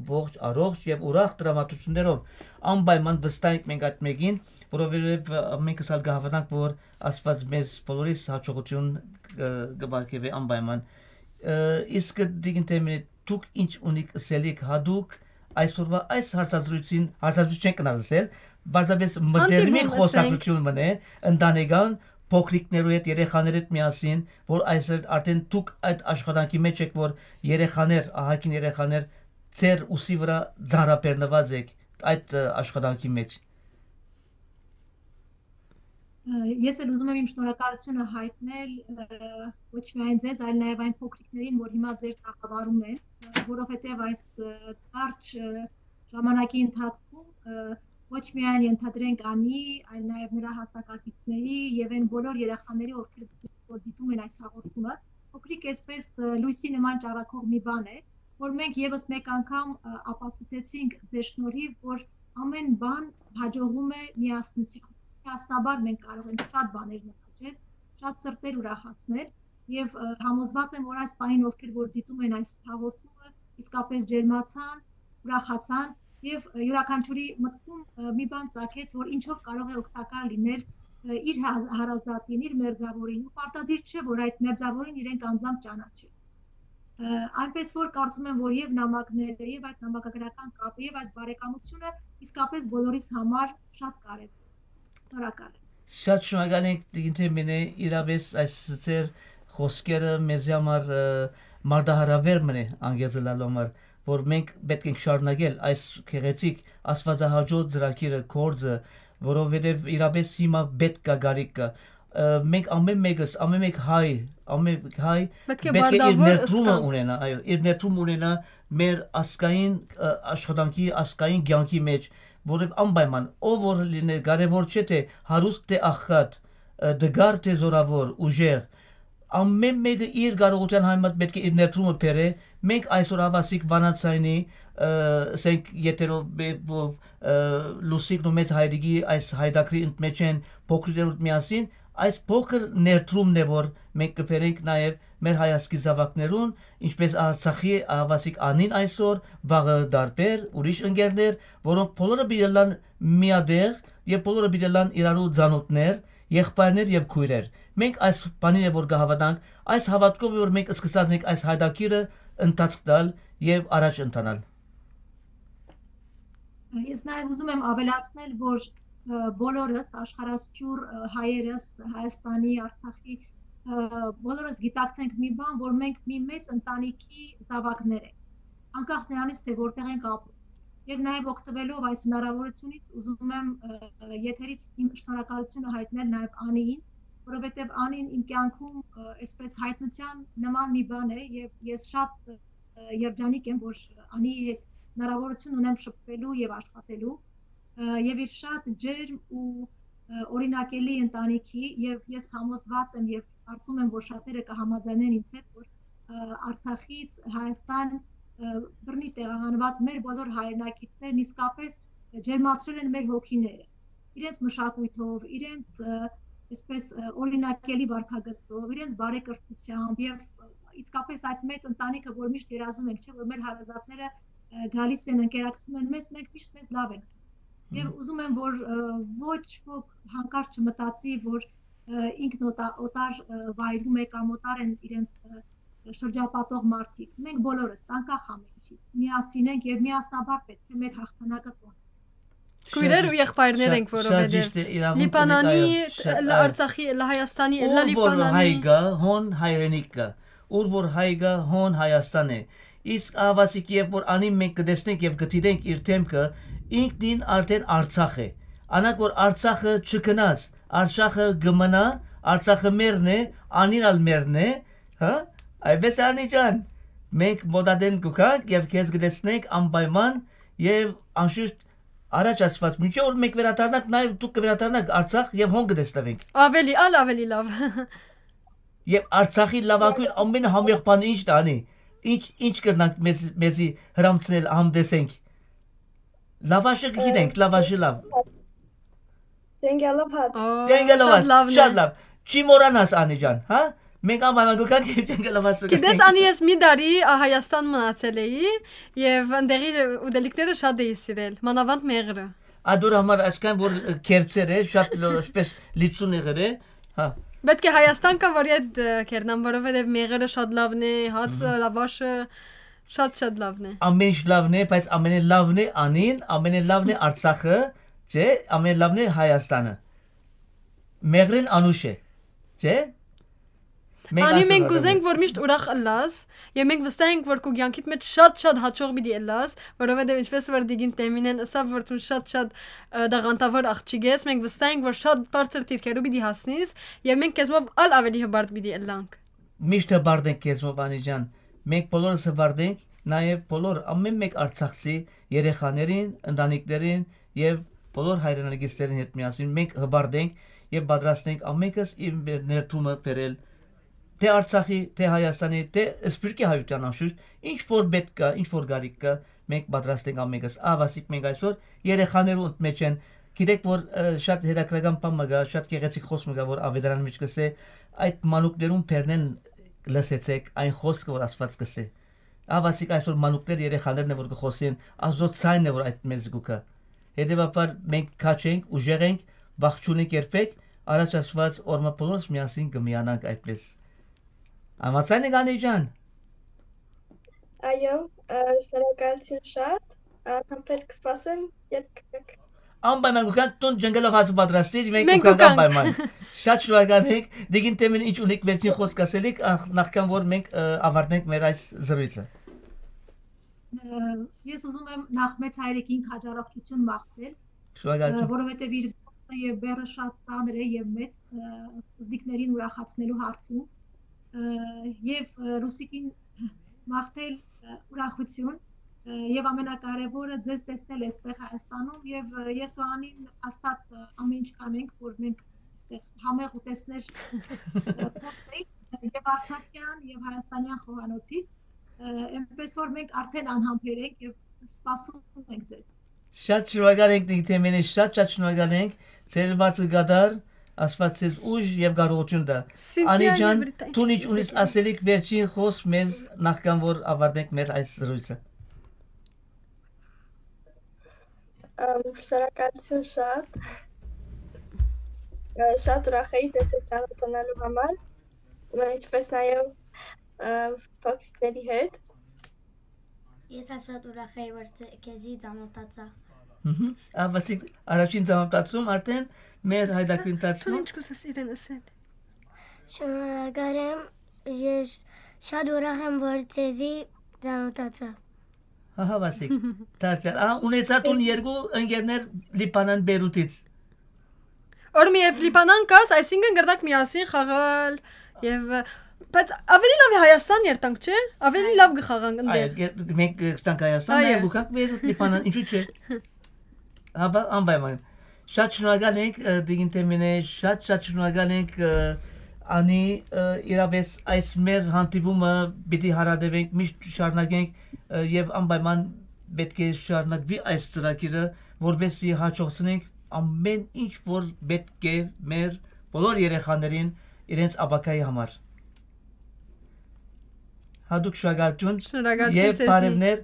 ողջ, առողջ եւ ուրախ դրամատուրգիաներով։ Անպայման վստահ ենք մենք այդ մեկին, որովհետեւ, ը, ամենքս ալ կհաւատանք, որ Աստված մեզ բոլորիս հաջողութիւն, ը, կ'ուղարկէ անպայման։ Ը, իսկ դիգին թեմին դուք ինչ ունիք ըսելիք յատուկ այսօրվա այս հարցազրույցին, հարցազրույց չենք կնար ըսել, պարզապէս մտերմի Հանդիպում, ըսենք։ Խոսակցութիւն մնէ, ընտանեկան, փոքրիկներու հետ, երեխաներու հետ միասին, որ այս էր արդեն դուք այդ աշխատանքի մեջ եք, որ երեխաներ, ահագին երեխաներ, ձեր ուսի վրա ծանրաբեռնուած եք այդ, ը, աշխատանքի մեջ։ Ը, ես էլ ուզում եմ իմ շնորհակալությունը հայտնել, ը, ոչ միայն ձեզ, այլ նաև այն փոքրիկներին, որ հիմա ձեր տաղավարում են, ը, որովհետև այս, ը, կարճ, ը, ժամանակի ընթացքում, ը, ոչ միայն ենթադրենք Անի, այլ նաև նրա հասակակիցների եւ այն բոլոր երեխաների, ովքեր որ դիտում են այս հաղորդումը, փոքրիկ այսպես, ը, լույսի նման ճառագող մի բան է, որ մենք եւս մեկ անգամ, ը, ապացուցեցինք ձեր շնորհիվ, որ ամեն բան հաջողվում է միասնությամբ։ Միասնաբար մենք կարող ենք շատ բաներ նվաճել, շատ սրտեր ուրախացնել, եւ, ը, համոզված եմ, որ այս պահին ովքեր որ դիտում են այս հաղորդումը, իսկապես ջերմացան, ուրախացան, եւ, ը, յուրաքանչյուրի մտքում, ը, մի բան ծագեց, որ ինչով կարող է օգտակար լինել, ը, իր հա-, հարազատին, իր մերձավորին, ու պարտադիր չէ, որ այդ մերձավորին իրենք անձամբ ճանաչեն։ Ը, այնպես որ կարծում եմ, որ եւ նամակները, եւ այդ նամակագրական կապը, եւ այս բարեկամությունը իսկապես բոլորիս համար շատ կարեւոր է։ Շնորհակալ եմ։ Շատ շնորհակալ ենք, տիկին Թեմինե, իրապէս այս ձեր խոսքերը մեզի համար, ը, մարտահրավեր մնէ անգեզլալու համար, որ մենք պէտք ենք շարունակել այս գեղեցիկ աստվածահաճո ծրագիրը, գործը, որովհետեւ իրապէս հիմա պէտք կա, կարիք կա։ Ը, մենք ամեն մեկս, ամեն մեկ հայ, ամեն մեկ հայ Պէտք է պէտք է իր պարտավոր ներդրումը զգանք։ Ունենա, այո, իր ներդրումը ունենա մեր ազգային, ը, աշխատանքի, ազգային կյանքի մեջ, որովհետեւ անպայման, ով որ լիներ, կարեւոր չէ թե հարուստ, թե աղքատ, ը, տկար, թե զորաւոր, ուժեղ, ամեն մեկը իր կարողութեան համեմատ պէտք է իր ներդրումը բերէ։ Մենք այսօր Ավասիկ Վանաձայնի, ը, ասենք, եթերով, ը, լուսիկն ու մեծ հայրիկի այս հայդակրի ընդ մեջ են փոքրիկներուդ միասին, այս փոքր ներդրումն է, որ մենք կբերենք նաեւ մեր հայազգի զաւակներուն, ինչպես Արցախի Ավասիկ Անին այսօր, վաղը դարբեր, ուրիշ ընկերներ, որոնք բոլորը պիտի ըլլան միատեղ եւ բոլորը պիտի ըլլան իրարու ծանօթներ, եղբայրներ եւ քոյրեր։ Մենք այս բանին է որ կհաւատանք, այս հաւատքով է որ մենք սկսած ենք այս հայդակիրը ընթացք տալ եւ առաջ ընթանալ։ Ես նաև ուզում եմ ավելացնել, որ, ը, բոլորս, աշխարհասփյուռ, ը, հայերս, Հայաստանի, Արցախի, ը, բոլորս գիտակցենք մի բան, որ մենք մի մեծ ընտանիքի զավակներ ենք, անկախ նրանից, թե որտեղ ենք ապրում։ Եվ նաև օգտվելով այս հնարավորությունից, ուզում եմ, ը, եթերից իմ շնորհակալությունը հայտնել նաև Անիին, որովհետև Անին իմ կյանքում, ը, այսպես հայտնության նման մի բան է, և ես շատ, ը, երջանիկ եմ, որ Անիի հետ հնարավորություն ունեմ շփվելու և աշխատելու, ը, և իր շատ ջերմ ու, ը, օրինակելի ընտանիքի, և ես համոզված եմ և կարծում եմ, որ շատերը կը համաձայնեն ինձ հետ, որ, ը, Արցախից Հայաստան, ը, բռնի տեղահանուած մեր բոլոր հայրենակիցներն իսկապես ջերմացրել են մեր հոգիները, իրենց մշակոյթով, իրենց, ը, այսպես, ը, օրինակելի վարքագծով, իրենց բարեկրթությամբ եւ, ը, իսկապես այս մեծ ընտանիքը, որ միշտ երազում ենք, չէ՞, որ մեր հարազատները, ը, գալիս են, ընկերակցում են մեզ, մենք միշտ մեզ լավ ենք զգում։ Եւ Մհմ։ ուզում եմ, որ, ը, ոչ ոք հանկարծ չմտածի, որ, ը, ինքն օտա-, օտար, ը, վայրում է կամ օտար են իրենց, ը, շրջապատող մարդիկ։ Մենք բոլորս, անկախ ամեն ինչից, միասին ենք եւ միասնաբար պէտք է մեր հաղթանակը տոնք։ Քոյրեր Շատ, ու եղբայրներ շատ, ենք, շատ որովհետև ճիշտ է, իրավունք ունեք, Լիբանանի, այո, շատ, լ-, այո։ Արցախի, լ-, Հայաստանի, Ուր լ-, որ հայ Լիբանանի։ Կա, հոն հայրենիք կա, ուր որ հայ կա, հոն Հայաստան է։ Իսկ ահավասիկ, երբ որ անին մենք կտեսնենք եւ կդիտենք իր դեմքը, ինքնին արդեն Արցախ է։ Անակ որ Արցախը չքնած, Արցախը կմնա, Արցախը մերն է, անին ալ մերն է, հա՞։ Այդպես է, Անիջան, մենք մոտադեն կուքանք եւ քեզ կտեսնենք անպայման եւ անշուշտ առաջ ասված, մինչեւ որ մենք վերադառնանք, նաեւ դուք կվերադառնաք Արցախ եւ հոն կտեսնվենք։ Ավելի, ալ ավելի լավ։ Եվ Արցախի լավագույն ամենահամեղ բանը ի՞նչն է, անի։ Ի՞նչ, ի՞նչ կրնանք մեզ, մեզի հրամցնել, համտեսենք։ Լավաշը գիտենք, լավաշը լավ։ Ջենգալով հաց։ Ա, Ջենգալով շատ հաց, լավն շատ է։ Լավ։ Չի մոռանաս, Անի ջան, հա։ Մենք անպայման գոքանք եւ ջենգալով հաց Գիտես, կգնենք։ Անի, ես մի տարի, ա, Հայաստան մնացել էի եւ ընդեղի ուտելիքները շատ էի սիրել, մանավանդ մեղրը։ Ա, դուր համար այսքան որ, ը, քերծեր է, շատ լո-, այսպես լիցուն եղեր է, հա։ Պետք է Հայաստան կա, որ ետ, ը, քերնամ, որովհետեւ մեղրը շատ լավն է, հացը, Մհմ։ Լավաշը շատ, շատ լավն է։ Ամեն ինչ լավն է, բայց ամենէ լավն է Անին, ամենէ լավն է Արցախը, չէ՞, ամենէ լավն է Հայաստանը։ Մեղրին անուշ է, չէ՞։ Մենք Անի, ասում մենք ենք կուզենք, որ միշտ ուրախ ըլլաս, եւ մենք վստահ ենք, որ քու կեանքիդ մէջ շատ-շատ հաճող պիտի ըլլաս, որովհետեւ ինչպես որ Տիկին Տեմինեն ըսաւ, որ դուն շատ-շատ, ը, տաղանդավոր աղջիկ ես, մենք վստահ ենք, որ շատ բարձր դիրքերու պիտի հասնիս, եւ մենք քեզմով ալ ավելի հպարտ պիտի ըլլանք։ Միշտ հպարտ ենք քեզմով, Անի ջան, մենք բոլորս հպարտ ենք, նաեւ բոլոր, ամեն մեկ արցախցի երեխաներին, ընտանիքներին եւ բոլոր հայրենակիցներին հետ միասին մենք հպարտ ենք եւ պատրաստ ենք ամենքս իր մեր ներդրումը բերել, թե Արցախի, թե Հայաստանի, թե Սփիւռքի հայութեան անշուշտ, ինչ որ պետք կա, ինչ որ կարիք կա, մենք պատրաստ ենք ամենքս։ Ահավասիկ մենք այսօր երեխաներու ընդմեջ են, գիտեք որ, ը, շատ հետաքրական բան մը կա, շատ գեղեցիկ խոսք մը կա, որ Ավետարանի մեջ կսէ, այդ մանուկներուն բերնեն լսեցեք այն խոսքը, որ Աստուած կսէ։ Ահավասիկ այսօր մանուկներ, երեխաներն է, որ կխոսին, Աստուծոյ ցայնն է, որ այդ մեզ զգուքը։ Հետևաբար մենք քաջ ենք, ուժեղ ենք, վախ չունենք երբեք, առաջ ասված օրմա բոլորս միասին կմիանանք այդպես։ Համաձայն եք, Անի ջան։ Այո, ը, շնորհակալություն շատ, անհամբեր կսպասեմ, երբ կգաք։ Անպայման կուքանք, դուն ջնգլով հաց պատրաստիր, մենք Մենք կուքանք կուքանք։ Անպայման։ Շատ շնորհակալ ենք, Տիկին Տեմին, ինչ ունիք վերջին խոսք ասելիք, ախ-, նախքան որ մենք, ը, ավարտենք մեր այս զրույցը։ Ը, ես ուզում եմ նախ մեծ հայրիկին քաջառողջություն մաղթել, Շնորհակալություն։ Ը, որովհետև իր գործը և բեռը շատ ծանր է և մեծ, ը, զնիկներին ուրախացնելու հարցում, ը, և, ը, Ռուսիկին մաղթել, ը, ուրախություն, ը, և ամենակարևորը ձեզ տեսնել էստեղ Հայաստանում և, ը, ես ու Անին հաստատ, ը, ամեն ինչ կանենք, որ մենք էստեղ համեղ ուտեստներ, ը, փորձենք, ը, և արցախյան, և հայաստանյան խոհանոցից, ը, այնպես որ մենք արդեն անհամբեր ենք և սպասում ենք ձեզ։ Շատ շնորհակալ ենք, Տիկին Թեմենե, շատ, շատ շնորհակալ ենք։ Ձեր հարցը կդար, Աստված ձեզ ուժ և կարողություն տա։ Սինթիա Անի ջան, եվրիտա, դուն ինչ ինչպես ունիս եք ասելիք վերջին խոսք մեզ, նախքան որ ավարտենք մեր այս զրույցը։ Ըմ, շնորհակալություն շատ։ Ը, շատ ուրախ էի ձեզ հետ ծանոթանալու համար, ը, ինչպես նաև, ը, փոքրիկների հետ։ Ես ալ շատ ուրախ էի, որ ձե-, քեզի ծանոթացա։ Մհմ։ Ա, Վասիկ, առաջին ծանոթացում արդեն մեր հայդակի Դու ընթացքում։ ինչ կուզես իրեն ասել։ Շնորհակալ եմ, ես շատ ուրախ եմ, որ ձեզի ծանոթացա։ Ահա, Վասիկ, դարձյալ։ Ահա, ունեցա դուն երկու ընկերներ Լիբանան, Բեյրութից։ Որ մի երբ Լիբանան կաս, այսինքն կրնակ միասին խաղալ և, բայց ավելի լավ է Հայաստան երթանք, չէ՞։ Ավելի լավ կխաղանք այո, ընդդեմ։ Ե-, մենք կերթանք Հայաստան, այո, նաև կուքանք Բեյրութ, Լիբանան, ինչու՞ չէ։ Հա, բա, անպայման։ Շատ շնորհակալ ենք, ը, Տիկին Թեմենե, շատ, շատ շնորհակալ ենք, ը, Անի, ը, իրապէս այս մեր հանդիպումը պիտի հարատեւենք, միշտ շարունակենք, ը, եւ անպայման պէտք է շարունակուի այս ծրագիրը, որպեսզի հաջողցնենք ամէն ինչ, որ պէտք է մեր բոլոր երեխաներին իրենց ապագայի համար։ Հատուկ շնորհակալություն Շնորհակալություն եւ ձեզի։ Բարեւներ,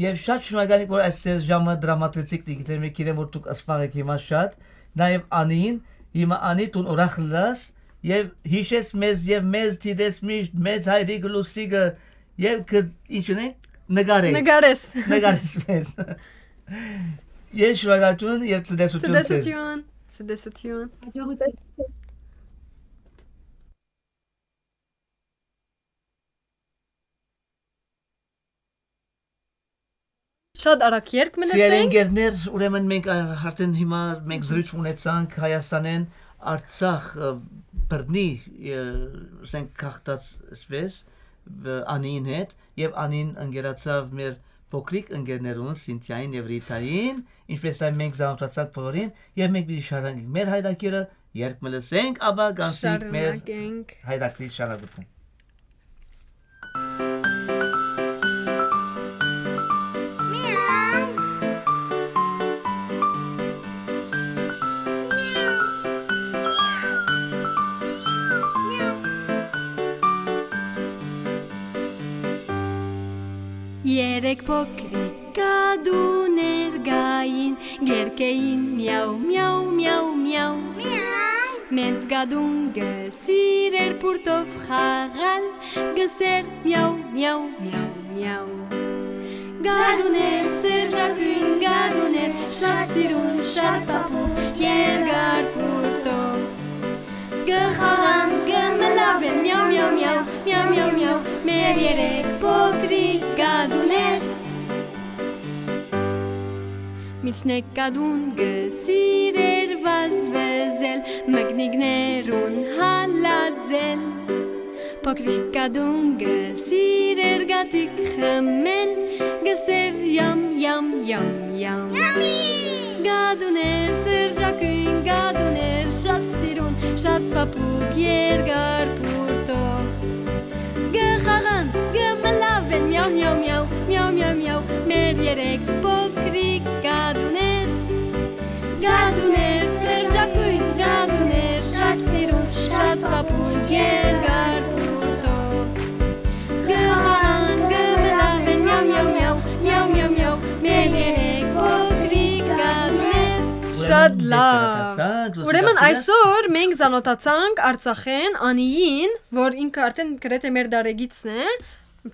եւ շատ շնորհակալ ենք, որ այս ձեր ժամը դրամատրեցիք, դիգիտեն, մէկ գիտեմ, որ դուք ըսպաղ եք հիմա շատ, նաեւ Անին, հիմա Անի, դուն ուրախ ըլլաս, եւ յիշես մեզ, եւ մեզ դիտես միշտ, մեծ հայրիկը, Լուսիկը, եւ կը, ինչն է, նկարես։ Նկարես։ Նկարես մեզ։ Ես շնորհակալություն եւ ցտեսություն ձեզ։ Ցտեսություն, ցտեսություն։ Հաջողություն։ Շատ արագ երգ մը Սիրելի լսենք։ Ընկերներ, ուրեմն մենք, ա, արդեն հիմա մենք զրույց ունեցանք Հայաստանեն, Արցախ, ը, բռնի, ը, ասենք, գաղթած, այսպես, ը, Անիին հետ, եւ Անին ընկերացաւ մեր փոքրիկ ընկերներուն, Սինթիային եւ Ռիթային, ինչպես նաեւ մենք ծանոթացանք բոլորին, եւ մենք պիտի շարունակենք մեր հայրագիրը, երբ մը լսենք, ապա կանցնենք մեր Շարունակենք։ Հայրագիրի շարունակություն։ Երեք փոքրիկ կատուներ կային, կերկեին միաու, միաու, միաու, միաու։ Մենծ կատուն կը սիրէր բուրդով խաղալ, կ'ըսէր միաու, միաու, միաու, միաու։ Կատուներ, սերժակույն կատուներ, շատ սիրուն, շատ փափուկ, երկար բուրդով։ Կը խաղան, կը մլաւեն, միաու, միաու, միաու, միաու, միաու, միաու, մեր երեք փոքրիկ կատուներ։ Միջնեկ կատուն կը սիրէր վազվզել, մկնիկներուն հալածել։ Փոքրիկ կատուն կը սիրէր գաթիկ խմել, կ'ըսէր յամ, յամ, յամ, յամ։ Կատուներ, սերժակույն կատուներ, շատ սիրուն, շատ փափուկ, երկար բուրդով։ Կը խաղան, կը մլաւեն, միաու, միաու, միաու, միաու, միաու, միաու, մեր երեք փոքրիկ կատուներ։ Կատուներ, սերժակույն կատուներ, շատ սիրուն, շատ փափուկ, երկար բուրդով։ Կը խաղան, կը մլաւեն, միաու, միաու, միաու, միաու, միաու, միաու, մեր երեք փոքրիկ կատուներ։ Շատ լավ։ Ուրեմն այսօր մենք ծանոթացանք Արցախէն, Անիին, որ ինքը արդեն գրեթէ մեր դարեգիցն է,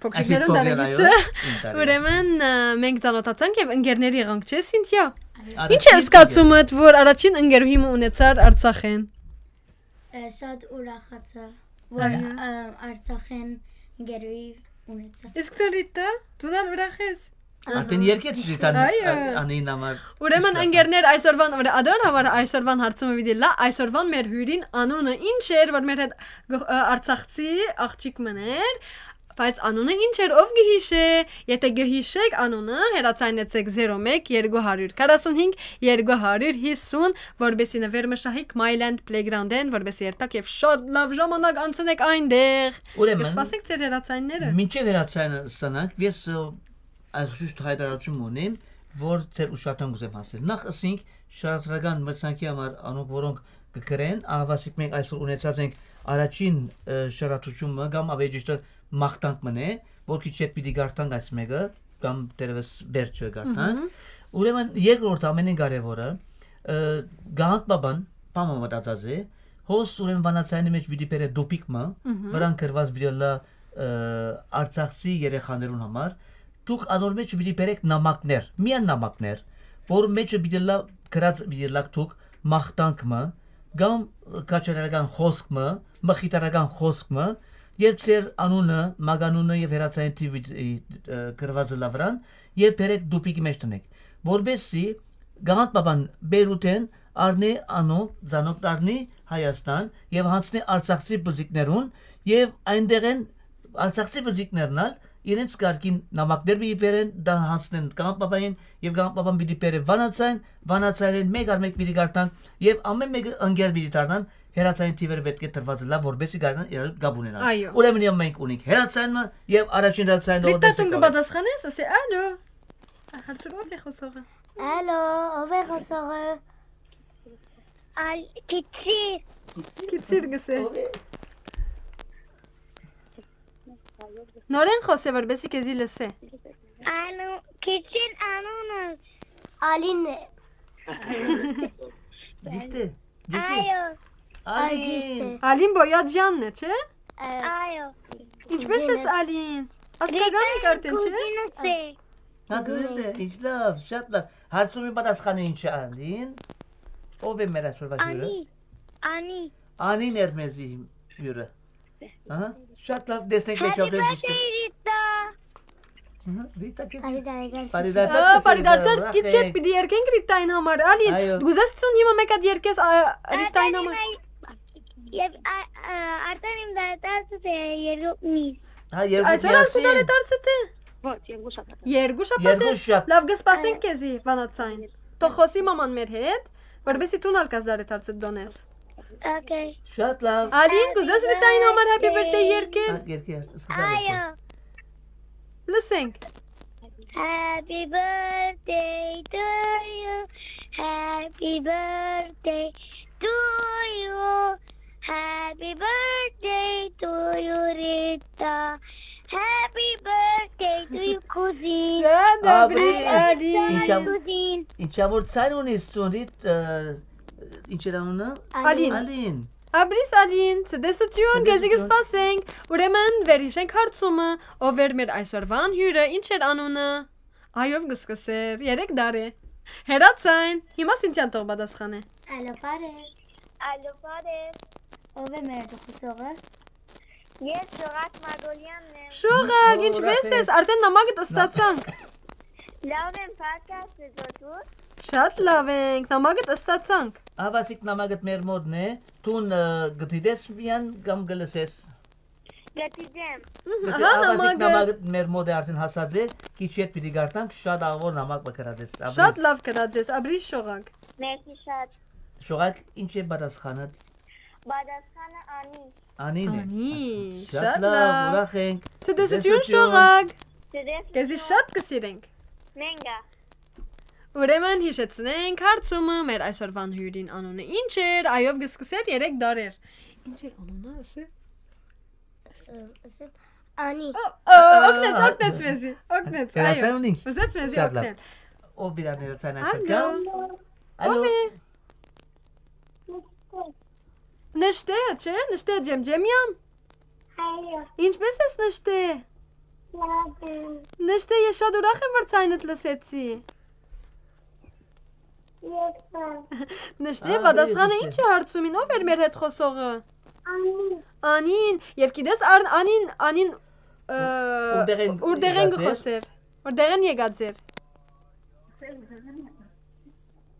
փոքրիկներուն Այսինքն դարեգիցը։ Փոքրիկներ, այո, իմ դարեգիցը։ Ուրեմն, ը, մենք ծանոթացանք եւ ընկերներ եղանք, չէ՞, Սինթիա։ Արագ Ինչ է զգացումդ, որ առաջին ընկերուհի մը ունեցար Արցախէն։ Ը, շատ ուրախացա, որ, Ահա։ ը, Արցախէն ընկերուհի ունեցա։ Իսկ դու, Ռիտա, դու ալ ուրախ ես։ Արդեն երկեց Ռիտան, Այո։ ա-, Անին համար Ուրեմն, իշպրախ։ Ընկերներ, այսօրվան, ուրե-, ադոր համար այսօրվան հարցումը պիտի լա, այսօրվան մեր հյուրին անունը ինչ էր, որ մեր հետ գ-, ը, արցախցի աղջիկ մըն էր, բայց անունը ինչ էր, ով կը յիշէ, եթե կը յիշէք անունը, հեռացայնեցեք զերո մեկ երկու հարիւր քառասուն հինգ երկու հարիւր հիսուն, որպեսզի նվեր մը շահիք Myland Playground-ին, որպեսզի երթաք եւ շատ լավ ժամանակ անցնեք այնտեղ։ Ուրեմն, Կսպասենք ձեր հեռացայինները։ Մինչեւ հեռացայինը ստանանք, ես, ը, այս շուշտ հայտարարություն ունեմ, որ ձեր ուշադրության կուզեմ հասնել։ Նախ ըսինք շարադրական մրցանքի համար անոնք, որոնք կգրեն, ահավասիկ մենք այսօր ունեցած ենք առաջին, ը, շարադրությունը կամ ավելի ճիշտը մաղթանք մնե, որ քիչ հետ պիտի գարտանք այս մեկը, կամ դերևս վերջը գարտանք։ Մհմ։ Ուրեմն երկրորդ ամենին կարևորը, ը, Գահանդ Պապան պամը մտածած է, հոս ուրեմն վանացայինի մեջ պիտի բերե դուպիկ մը, Մհմ։ վրան գրված պիտի լա, ը, արցախցի երեխաներուն համար, դուք անոր մեջ պիտի բերեք նամակներ, միայն նամակներ, որ մեջը պիտի լա գրած պիտի լաք դուք մաղթանք մը, կամ քաջալերական խօսք մը, մխիթարական խօսք մը, եւ ձեր անունը, մականունը եւ հեռացային թիվը, ը, գրվածը լա վրան, եւ բերեք դուպիկի մեջ տնեք, որպեսզի Գահանդ Պապան Բեյրութեն առնէ անոնք, ձանոք դառնի Հայաստան եւ հանձնէ արցախցի բզիկներուն, եւ այնտեղ են արցախցի բզիկներն ալ իրենց կարգին նամակներ պիտի բերեն, դա հանձնեն Գահանդ Պապային, եւ Գահանդ Պապան պիտի բերե վանացայն, վանացայինին մեկ առ մեկ պիտի գարտան, եւ ամեն մեկը ընկեր պիտի դառնան, հեռացային թիվերը պէտք է տրուած ըլլայ, որպէսզի կարենան իրարու հետ կապ ունենան։ Այո։ Ուրեմն եւ մենք ունենք հեռացան մը եւ առաջին հեռացանը Ռիտա, դու կը պատասխանես, ասէ, ալո։ Հարցրու, ով է խօսողը։ Ալո, ով է խօսողը։ Ալ-, Քիչիր։ Քիչիր գսէ։ Ով է։ Նորէն խօսէ, որպէսզի քեզի լսէ։ Անու-, Քիչին անունս Ալին է։ Ճիշդ է, ճիշդ է։ Այո։ Ալին։ Ալին Բոյաջյանն է, չէ՞։ Այո։ Ինչպէս ես, Ալին։ Ազգական եք արդեն, չէ՞։ Հա, կուզինս է, ինչ լավ, շատ լավ։ Հարցումի պատասխանը ինչ է, Ալին։ Ով է մեր այսօրվա հյուրը։ Անի, Անի։ Անին էր մեզի հյուրը։ Ահա, շատ լավ, տեսնենք, Happy birthday, Rita։ Ահա, Rita, քեզ Բարի տարեգար, Բարի Սիսի։ Դարձ, Ա, բարի դարձ, Rita, կիչետ, պիտի երկենք Rita-ին համար, Ալին, Այո։ Գուզես ծուն հիմա մեկ հատ երկես, ա, Rita-ին համար։ Ա, Ա, Արտան իմ դարձ է երկու միս։ Հա, երկու Այսօր ալ միասին։ Կու դարե դարձը թե։ Ոչ, երկու շաբաթ։ Երկու շաբաթ Երկու է, շաբաթ։ Լավ, կսպասենք Այո։ Քեզի, վանացային։ Թող խօսի մաման մեր հետ, որպեսզի դուն ալ կազարը դարձը դոնես։ Okay։ Շատ լավ։ Ալին, կուզես Rita-ին համար Happy birthday երկել։ Հա, երկի, սկսա Այո։ երկել։ Լսենք։ Happy birthday to you, happy birthday to you, happy birthday to you, Rita, happy birthday to you, cousin։ Շատ dobrý, Ալին։ Ինչ ամ-, Cousin։ Ինչ ամ որ ցայր ունիս ծունրիտ, ը, ինչ էր անունը։ Ալին։ Ալին։ Dobrý, Ալին, ցտեսություն, քեզի Ցտեսություն։ Կսպասենք։ Ուրեմն, վերհիշենք հարցումը, ով էր մեր այսօրվան հյուրը, ինչ էր անունը։ Այո, կսկսեր, երեք դարե։ Հերացայն, հիմա Սինթիան թող պատասխանե։ Ալո, բարև։ Ալո, բարև։ Ով է մեր խօսողը։ Ես Շողակ Մագոլյանն եմ։ Շողակ, Ո, ինչպե՞ս ուրախ ես, եմ։ Արդեն նամակդ ստացանք։ Լավ եմ, փառք Աստծո, դու։ Շատ լավ ենք, նամակդ ստացանք։ Ահա, ասիկ նամակդ մեր մոտն է, դուն, ը, գտիտես միան կամ գլսես։ Գտիտեմ։ Մհմ, Գտի-, ահա ահա, ասիկ նամակը։ Նամակդ մեր մոտ է արդեն հասած է, քիչ յետ պիտի գարտանք, շատ աղոր նամակ մը գրած ես, Dobrý։ Շատ լավ գրած ես, Dobrý Շողակ։ Մերսի շատ։ Շողակ, ինչ է պատասխանդ։ Պատասխանը Անի։ Անին է։ Անի, շատ շատ լավ, լավ։ Ուրախ ենք։ Ցտեսություն, Ցտեսություն։ Շողակ։ Ցտեսություն։ Քեզի շատ կսիրենք։ Մենք ա։ Ուրեմն հիշեցնենք հարցումը, մեր այսօրվան հյուրին անունը ինչ էր, այով կսկսեր երեք դարեր։ Ինչ էր անունը, ասե։ Ը, ասեմ, Անի։ Ա, ա, օգնեց, օգնեց մեզի, օգնեց, այո։ Հերացան ունի։ Ուզեց մեզի Շատ լավ։ Օգնել։ Ով իրար ներեցան այսօր Ալո։ Կա։ Ալո։ Ով է։ Նշտե, չէ՞, Նշտե Ջեմջեմյան։ Այո։ Ինչպե՞ս ես, Նշտե։ Լավ եմ։ Նշտե, ես շատ ուրախ եմ, որ ցայնդ լսեցի։ Ես ա։ Նշտե, Ա, պատասխանը ես ինչ է հարցումին, ով էր մեր հետ խոսողը։ Անի։ Անին, և գիտես, Ան-, Անին, Անին, ը, Ուրդեղեն ուր դեղեն եկած էր։ Գխոսեր, ուր դեղեն եկած էր։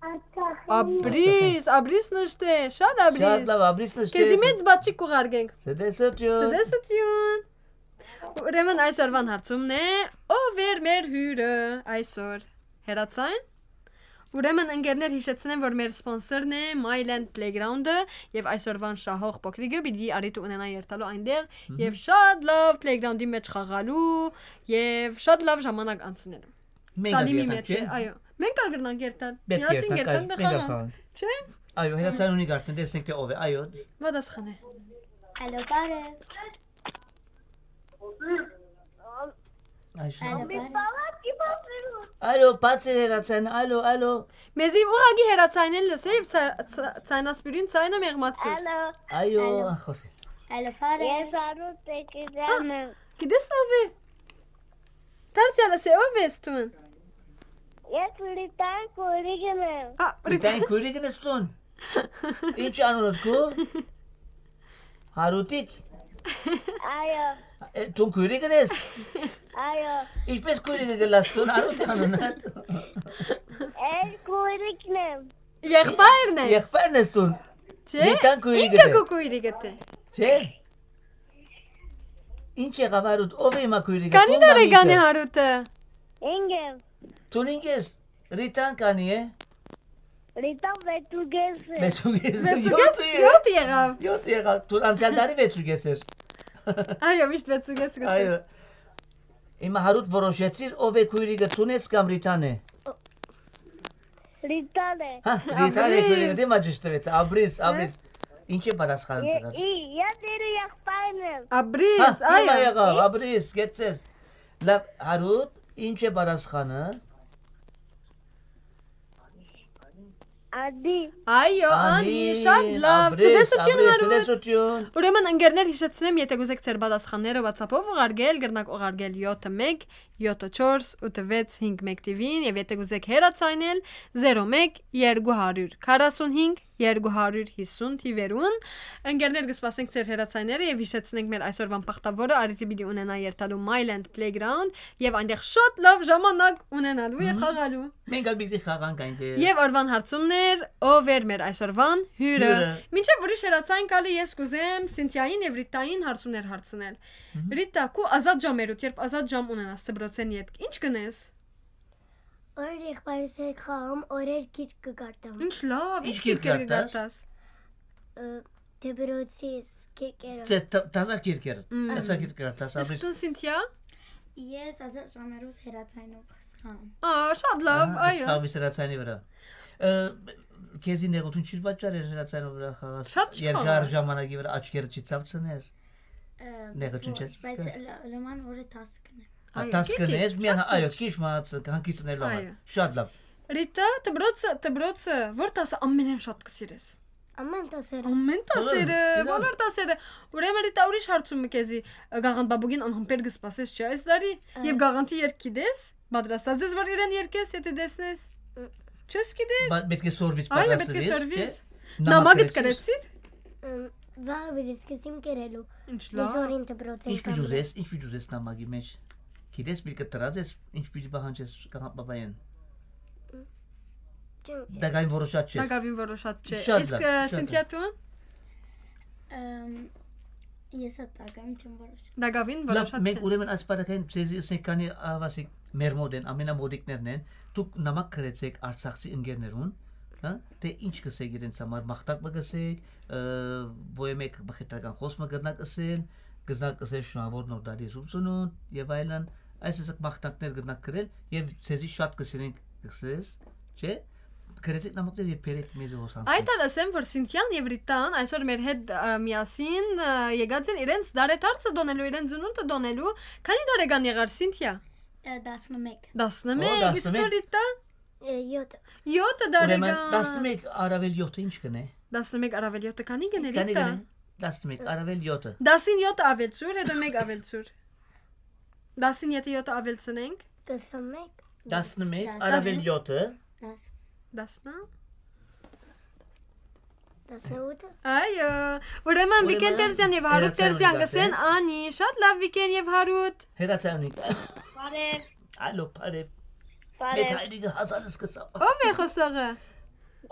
Արցախի։ Dobrý, Dobrý Նշտե, շատ Dobrý։ Շատ լավ, Dobrý Նշտե։ Քեզի մեծ բաճիկ կուղարկենք։ Ցտեսություն։ Ցտեսություն։ Ուրեմն այսօրվան հարցումն է, ով էր մեր հյուրը այսօր։ Հերացայն։ Ուրեմն ընկերներ հիշեցնեմ, որ մեր սպոնսորն է Myland Playground-ը և այսօրվան շահող փոքրիկը պիտի առիթ ունենա երթալու այնտեղ Մհմ։ և շատ լավ playground-ի մեջ խաղալու և շատ լավ ժամանակ անցնելու։ Մենք Սալիմի ալ մեջ է, երթանք, չէ՞։ Այո։ Մենք ալ կրնանք երթալ։ Պետք է Միասին երթանք, երթանք, այո, մենք ալ խաղանք։ Խաղանք։ Չէ՞։ Այո, հերացան ունի արդեն, տեսնենք թե ով է, այո։ Պատասխան է։ Ալո, բարև։ Այժմ։ Ալո, բարև։ Ալո, բաց է հերացան, ալո, ալո։ Մեզի ուղղակի հերացանեն լսե և ցա-, ցա-, ցայնասպիրին ցայնը մեղմացուր։ Ալո։ Այո, Ալո։ Ախոսի։ Ալո, բարև։ Ես Արուտ Տեկիզյան եմ։ Հա, գիտես ով է։ Դարձյալ ասե, ով ես դուն։ Ես Լիտան քուրիկն եմ։ Ա, Լիտան քուրիկն ես դուն։ Ինչ անունդ քու։ Հարութիկ։ Այո։ Է, դու քույրիկն ես։ Այո։ Ինչպես քույրիկը գլաս դու, Հարութ անունը։ Էլ քույրիկն եմ։ Եղբայրն ես։ Եղբայրն ես դու։ Չէ, Լիտան քույրիկը ինքը դե։ Քո քույրիկը դե։ Չէ։ Ինչ եղավ, Հարութ, ով է հիմա քույրիկը, Քանի դու տարեկան է մամիկը։ Հարութը։ Ինքը։ Դու ինքս, Լիտան քանի է։ Ռիտա վեցուկես է։ Վեցուկես, Վեցուկես, յոթը ե-, յոթը եղաւ։ Յոթը եղաւ։ Դու անցյալ տարի վեցուկես էր։ Այո, միշտ վեցուկես կսե։ Այո։ Հիմա Հարութ որոշեցիր, ով է քոյրիկը, Թունես կամ Ռիտան է։ Ռիտան է։ Հա, Ռիտան է Աբրիս։ Քոյրիկը, դիմա ճիշտ տվեց։ Աբրիս, Աբրիս։ Ինչ է պատասխանը Ե-, տղաս։ ի-, ես իր եղբայրն եմ։ Հա, Աբրիս, հիմա այո։ եղավ, Աբրիս, գեցես։ Լավ, Հարութ, ինչ է պատասխանը։ Անի։ Այո, Անի, Անի, շատ լավ։ Աբրիս, Ցտեսություն, Աբրիս, Հարութ։ Ցտեսություն։ Ուրեմն, ընկերներ, հիշեցնեմ, եթե կուզեք ձեր պատասխանները WhatsApp-ով ուղարկել, կրնաք ուղարկել յոթը մեկ, յոթը չորս, ութը վեց, հինգ մեկ թիվին, եւ եթե կուզեք հեռացայնել, զերո մեկ, երկու հարյուր քառասունհինգ, երկու հարյուր հիսուն թիվերուն։ Ընկերներ, կսպասենք ձեր հեռացայները եւ հիշեցնենք մեր այսօրվան բախտավորը, առիթը պիտի ունենայ երթալու Myland Playground եւ այնտեղ շատ լավ ժամանակ ունենալու եւ Մհմ։ խաղալու։ Մենք ալ պիտի խաղանք այնտեղ։ Եւ օրվան հարցումներ, ով էր մեր այսօրվան հյուրը։ Հյուրը։ Մինչեւ ուրիշ հեռացան գալը, ես կուզեմ Սինթիային եւ Ռիտային հարցումներ հարցնել։ Մհմ։ Ռիտա, քու ազատ ժամերուդ, երբ ազատ ժամ ունենաս դպրոցէն ետք, ինչ կնես։ Օրեր եղբայրս հետ խաղամ, օրեր գիրք կկարդամ։ Ինչ լավ, ինչ Ինչ գիրք գիրք կկարդաս։ կկարդաս։ Ը, դպրոցի գիրքերը։ Չէ, տ-, տազա գիրքեր, Մմ։ տազա գիրք կկարդաս, Իսկ Աբրիս։ դու, Սինթիա։ Ես ազատ ժամերուս հեռացայնով կսխամ։ Ա, շատ լավ, Ահա, այո։ կսխավի սրացանի վրա։ Ը, քեզի նեղություն չի պատճառ էր հեռացանով վրա խաղաս Շատ չի երկար խաղա։ ժամանակի վրա աչքերը չի ցավցներ։ Ը, Նեղություն ոչ, չես բայց զգար։ Լը-, լման օրը տաս կնեմ։ Ա, Այո, տաս քիչ կնես, է, միան, շատ այո, քիչ։ քիչ մահացը, հանգիցնելու համար։ Այո։ Շատ լավ։ Ռիտա, դպրոցը, դպրոցը, որ տասը ամենէն շատ կսիրես։ Ամեն տասերը։ Ամեն տասերը, Ուրեմն, իրան։ Բոլոր տասերը։ Ուրեմն, Ռիտա, ուրիշ հարցում մը քեզի, գաղանդ բաբուկին անհամբեր կսպասես, չէ՞, այս տարի։ Այո։ Եվ գաղանդի երգ գիտես, պատրաստած ես, որ իրեն երգես, եթե տեսնես։ Ը։ Չես գիտեր։ Բա-, պետք է սորվից Այո, պետք է պատրաստվես, սորվիս։ չէ՞։ Նամակ Նամակ գրեցիր։ գրեցիր։ Ըմ, վաղ վիրիս կսիմ կերելու։ Ինչ Մի լավ։ զորին դպրոցին Ինչ պիտի կամ ուզես, ինչ պիտի ուզես նամակի մեջ։ Գիտես, մի կտրած ես, ինչ պիտի պահանջես կաղ-, պապայեն։ Չեմ Դակային որոշած չես։ Դակավին որոշած չէ։ Շատ Իսկ, լավ, ը, շատ Սինթիա լավ։ Տուն։ Ըմ, ես ա տակավին չեմ որոշ։ Դակավին Լավ, որոշած մենք չէ։ ուրեմն այս պարագային ձեզի ասենք քանի ավասիկ մեր մոտ են, ամենամոդիկներն են, դուք նամակ գրեցեք արցախցի ընկերներուն, հա, թե ինչ կսեք իրենց համար, մաղթակ մը կսեք, ը, ոյ մեկ մխիթարական խոսք մը կրնաք ըսել, կրնաք ըսել շնորհավոր նոր տարի, ուսում ծնունդ եւ այլն, այս ասեք մաղթանքներ կրնաք գրել եւ ձեզի շատ կսիրենք կսես, չէ՞։ Գրեցեք նամակներ եւ բերեք մեզ հոս Այդ անցնենք։ ալ ասեմ, որ Սինթիան եւ Ռիտան այսօր մեր հետ, ը, միասին, ը, եկած են իրենց դարեդարձը դոնելու, իրենց ծնունդը դոնելու։ Քանի տարեկան եղար Սինթիա։ Ը, տասնմեկ։ Տասնմեկ, Ո, իսկ դու տասնմեկ։ Ռիտա։ Ը, յոթ։ Յոթը Ուրեմն տարեկան։ տասնմեկ առավել յոթը ինչ կնե։ Տասնմեկ առավել յոթը քանի կնե, Քանի Ռիտա։ կնե։ տասնմեկ առավել յոթը։ Տասին յոթը ավելցուր, հետո մեկ ավելցուր։ Տասին յոթը ավելցնենք։ Տասնմեկ։ տասնմեկ Տաս- առավել յոթը։ Տաս- Տասնա։ Տասնութը։ Այո, ուրեմն Վիկեն Ուրեմն Տերզյան եւ Հարութ հերացան Տերզյան ունի կսեն, դասը։ Անի, շատ լավ Վիկեն եւ Հարութ։ Հերացան ունի։ Բարև, Ալո, բարև։ Մեծ բարև։ Հայրիկը հազարս կսա։ Ո՞վ է խոսողը։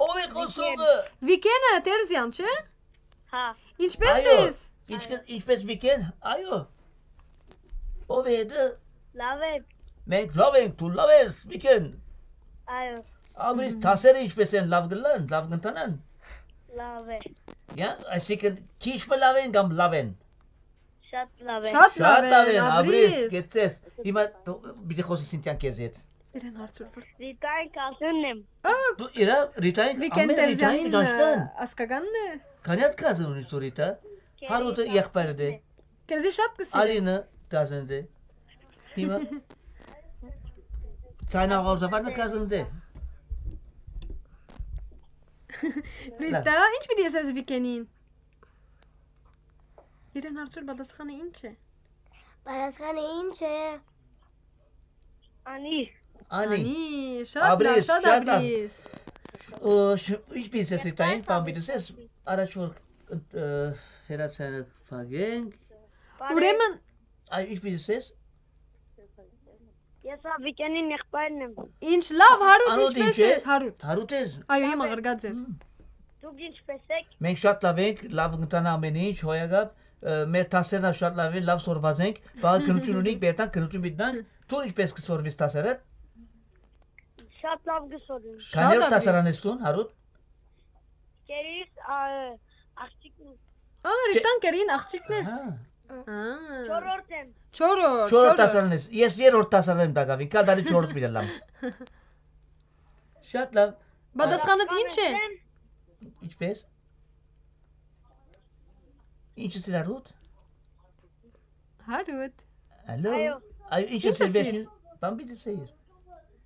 Ո՞վ է խոսողը։ Վիկենը Տերզյան, չէ՞։ Հա։ Ինչպե՞ս Այո, ես։ ինչ կը-, ինչպես Վիկեն, այո։ Ո՞վ է դա։ Լավ է։ Մենք լավ ենք, դու լավ ես, Վիկեն։ Այո, Աբրիս, Մհմ։ դասերը ինչպես են, լավ գլան, լավ կընթանան։ լավ է։ Յա, այսինքն քիչ մը լավ են կամ լավ են։ Շատ լավ է։ Շատ լավ Շատ լավ են, են, Աբրիս, Աբրիս։ գեցես։ Հիմա դու պիտի խոսես Սինթիան քեզ հետ։ Իրեն հարցուր վր։ Դիտային կասենն եմ։ Ա, Դու իրա Ռիտային, Վիկեն ամեն Ռիտային Տերզյանին, ճանչնան։ ը, ասկականն է։ Քանի հատ կազն ունի Սորիտա։ Հարութը եղբայրը դե։ Քեզի շատ կսիրե։ Արինը կազն դե։ Հիմա Ցայնաղորզավարնը կազն դե։ Ռիտա, ինչ պիտի ասես Վիկենին։ Իրեն հարցուր պատասխանը ինչ է։ Պատասխանը ինչ է։ Անի։ Անի, Անի, շատ լավ, Աբրիս, շատ շատ լավ։ Աբրիս։ Ո, շ-, ինչպես ես Ղեկավար Ռիտային, բան պիտի ես, առաջ որ, ը, հերացանը փակենք։ Բարև։ Ուրեմն Այ, ինչպես ես։ Ես Ավիկենին եղբայրն եմ։ Ինչ լավ, Հարութ, Անոտ ինչպես ինչ է։ ես, Հարութ։ Հարութ ես։ Այո, հիմա Լավ է։ ղրգած էր։ Մմ։ Դուք ինչպես եք։ Մենք շատ լավ ենք, լավ կընթանա ամեն ինչ, հոյակապ, ը, մեր դասերն ալ շատ լավ են, լավ սորված ենք, բաղ քննություն ունենք, Բերտան, քննություն պիտի տանք, դու ինչպես կսորվիս դասերը։ Շատ լավ կը սորեմ։ Շատ Քանի՞ օր լավ դասարանես դուն, Հարութ։ Կերիս, ա, աղջիկն է։ Ա, Չէ- Ռիտան կերին աղջիկն ես։ Ահա։ Ա։ Չորրորդ եմ։ Չորրորդ, Չորրորդ չորրորդ։ դասարանես։ Ես երրորդ դասարան եմ տակավին, կա դարի չորրորդ պիտի լամ։ Շատ լավ։ Պատասխանդ ինչ է։ Ինչպես։ Ինչ ես իրարուտ։ Հարուտ։ Ալո։ Այո։ Այո, ինչ ես Ինչ ես իրբեշ։ Բան պիտի սեիր։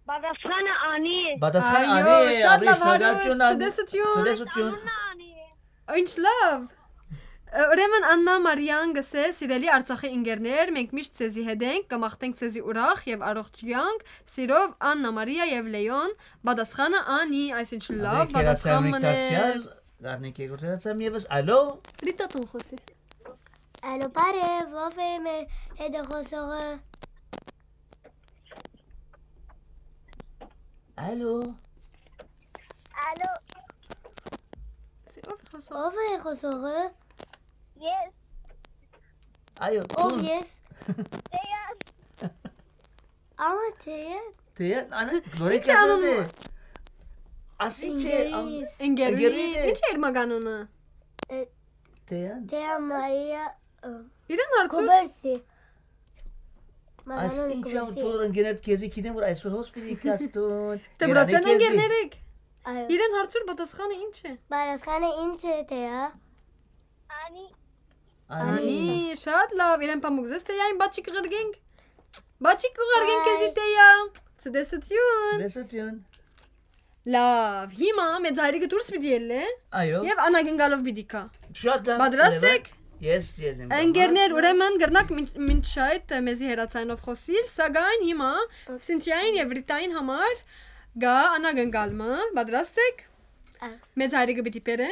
Պատասխանը անի է։ Պատասխանը Այո, անի է, շատ լավ, Հարուտ, սրդակցություն ան- ցտեսություն։ Ցտեսություն։ Անունը անի է։ Ինչ լավ։ Ուրեմն Աննա Մարիան գսե, սիրելի Արցախի ինգերներ, մենք միշտ ձեզի հետ ենք, կմաղթենք ձեզի ուրախ եւ առողջ կյանք, սիրով Աննա Մարիա եւ Լեոն, պատասխանը անի, այսինչ լավ Ալեկ հերացայ պատասխան մներ։ Դարձյալ, դառնենք երկրորդ հերացայ եւս, ալո։ Ռիտա տուն խոսի։ Ալո, բարև, ո՞վ է մեր հետ է խոսողը։ Ալո։ Ալո, Ո՞վ է խոսողը։ Ո՞վ է խոսողը։ Ես։ Այո, Ո՞վ Թուն։ Ես։ Տեան։ Ահա, Տեան։ Տեան, անա, նորեն Ի՞նչ է անում։ Ասած է։ Ասին չէ, ամ- Ինգերիս։ Ինգերուհի Ինգերուհի դե։ Ի՞նչ է իր մականունը։ Է, Տեան։ Տեան Մարիա, ը, Իրեն հարցուր։ Կոբերսի։ Այս Մականունը ինչ ան Կոբերսի։ Բոլոր ընկերներ քեզի գիտեմ, որ այսօր հոս պիտի կաստուն։ Դե Երանե բրացեն քեզի։ Ընկերներ եք։ Այո։ Իրեն հարցուր պատասխանը ի՞նչ է։ Պատասխանը ի՞նչ է, Տեա։ Անի։ Անի, շատ լավ, իրեն պամուկ զես Տեային բաչիկ ղրգենք։ Բաչիկ կուղարկենք քեզի Այ։ Տեա։ Ցտեսություն։ Ցտեսություն։ Լավ, հիմա մեծ հայրիկը դուրս պիտի ելլե Այո։ Եւ անակնկալով պիտի գա։ Շատ լավ, Պատրաստ ուրեմն, եք։ Ես ելեմ Ընկերներ, կամաց։ Ուրեմն գրնակ մինչ մինչ այդ մեզի հերացայնով խոսիլ, սակայն հիմա Սինթիային եւ Ռիտային համար գա անակնկալ մը, պատրաստ եք։ Այո։ Մեծ հայրիկը պիտի բերե։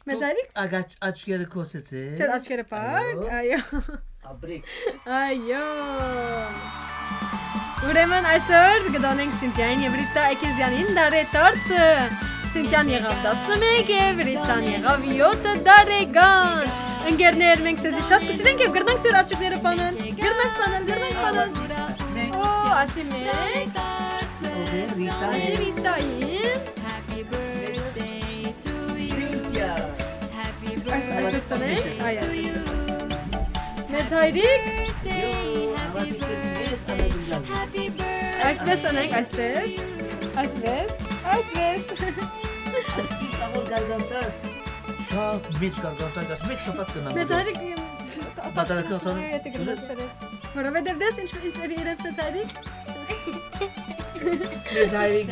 Մեծ Դու հայրիկ, ագաչ-, աչքերը կոսեցե։ Ձեր աչքերը փակ, Այո։ Այո։ Աբրիկ։ Այո։ Ուրեմն այսօր կդոնենք Սինթիային եւ Ռիտա Էքեզյանին դարեդարձը։ Սինթիան եղավ տասնմեկ եւ Ռիտան եղավ յոթ տարեկան։ Ընկերներ, մենք ձեզի շատ կսիրենք եւ կրնանք ձեր աչքերը փանալ։ Կրնանք փանալ, կրնանք փանալ։ Ո, ասի մեկ։ Ովե, Ռիտա Ասի է։ Ռիտային։ Happy birthday to you. Սինթիա։ Happy Այս, այսպես տանենք, birthday այ, to you. Մեծ հայրիկ։ Birthday, Յո, happy հավատի birthday, մեծ անակնկալ։ Happy birthday. Այսպես անենք, այսպես։ Այսպես, այսպես։ Այսինչ, ավոր գարգանտար, շատ մեծ գարգանտար, մեծ շաբաթ կնամ Մեծ դու։ Հայրիկ, Պատրաստական։ Որովհետև դες ինչ, ինչ էր իրենց մեծ հայրիկ։ Մեծ հայրիկ,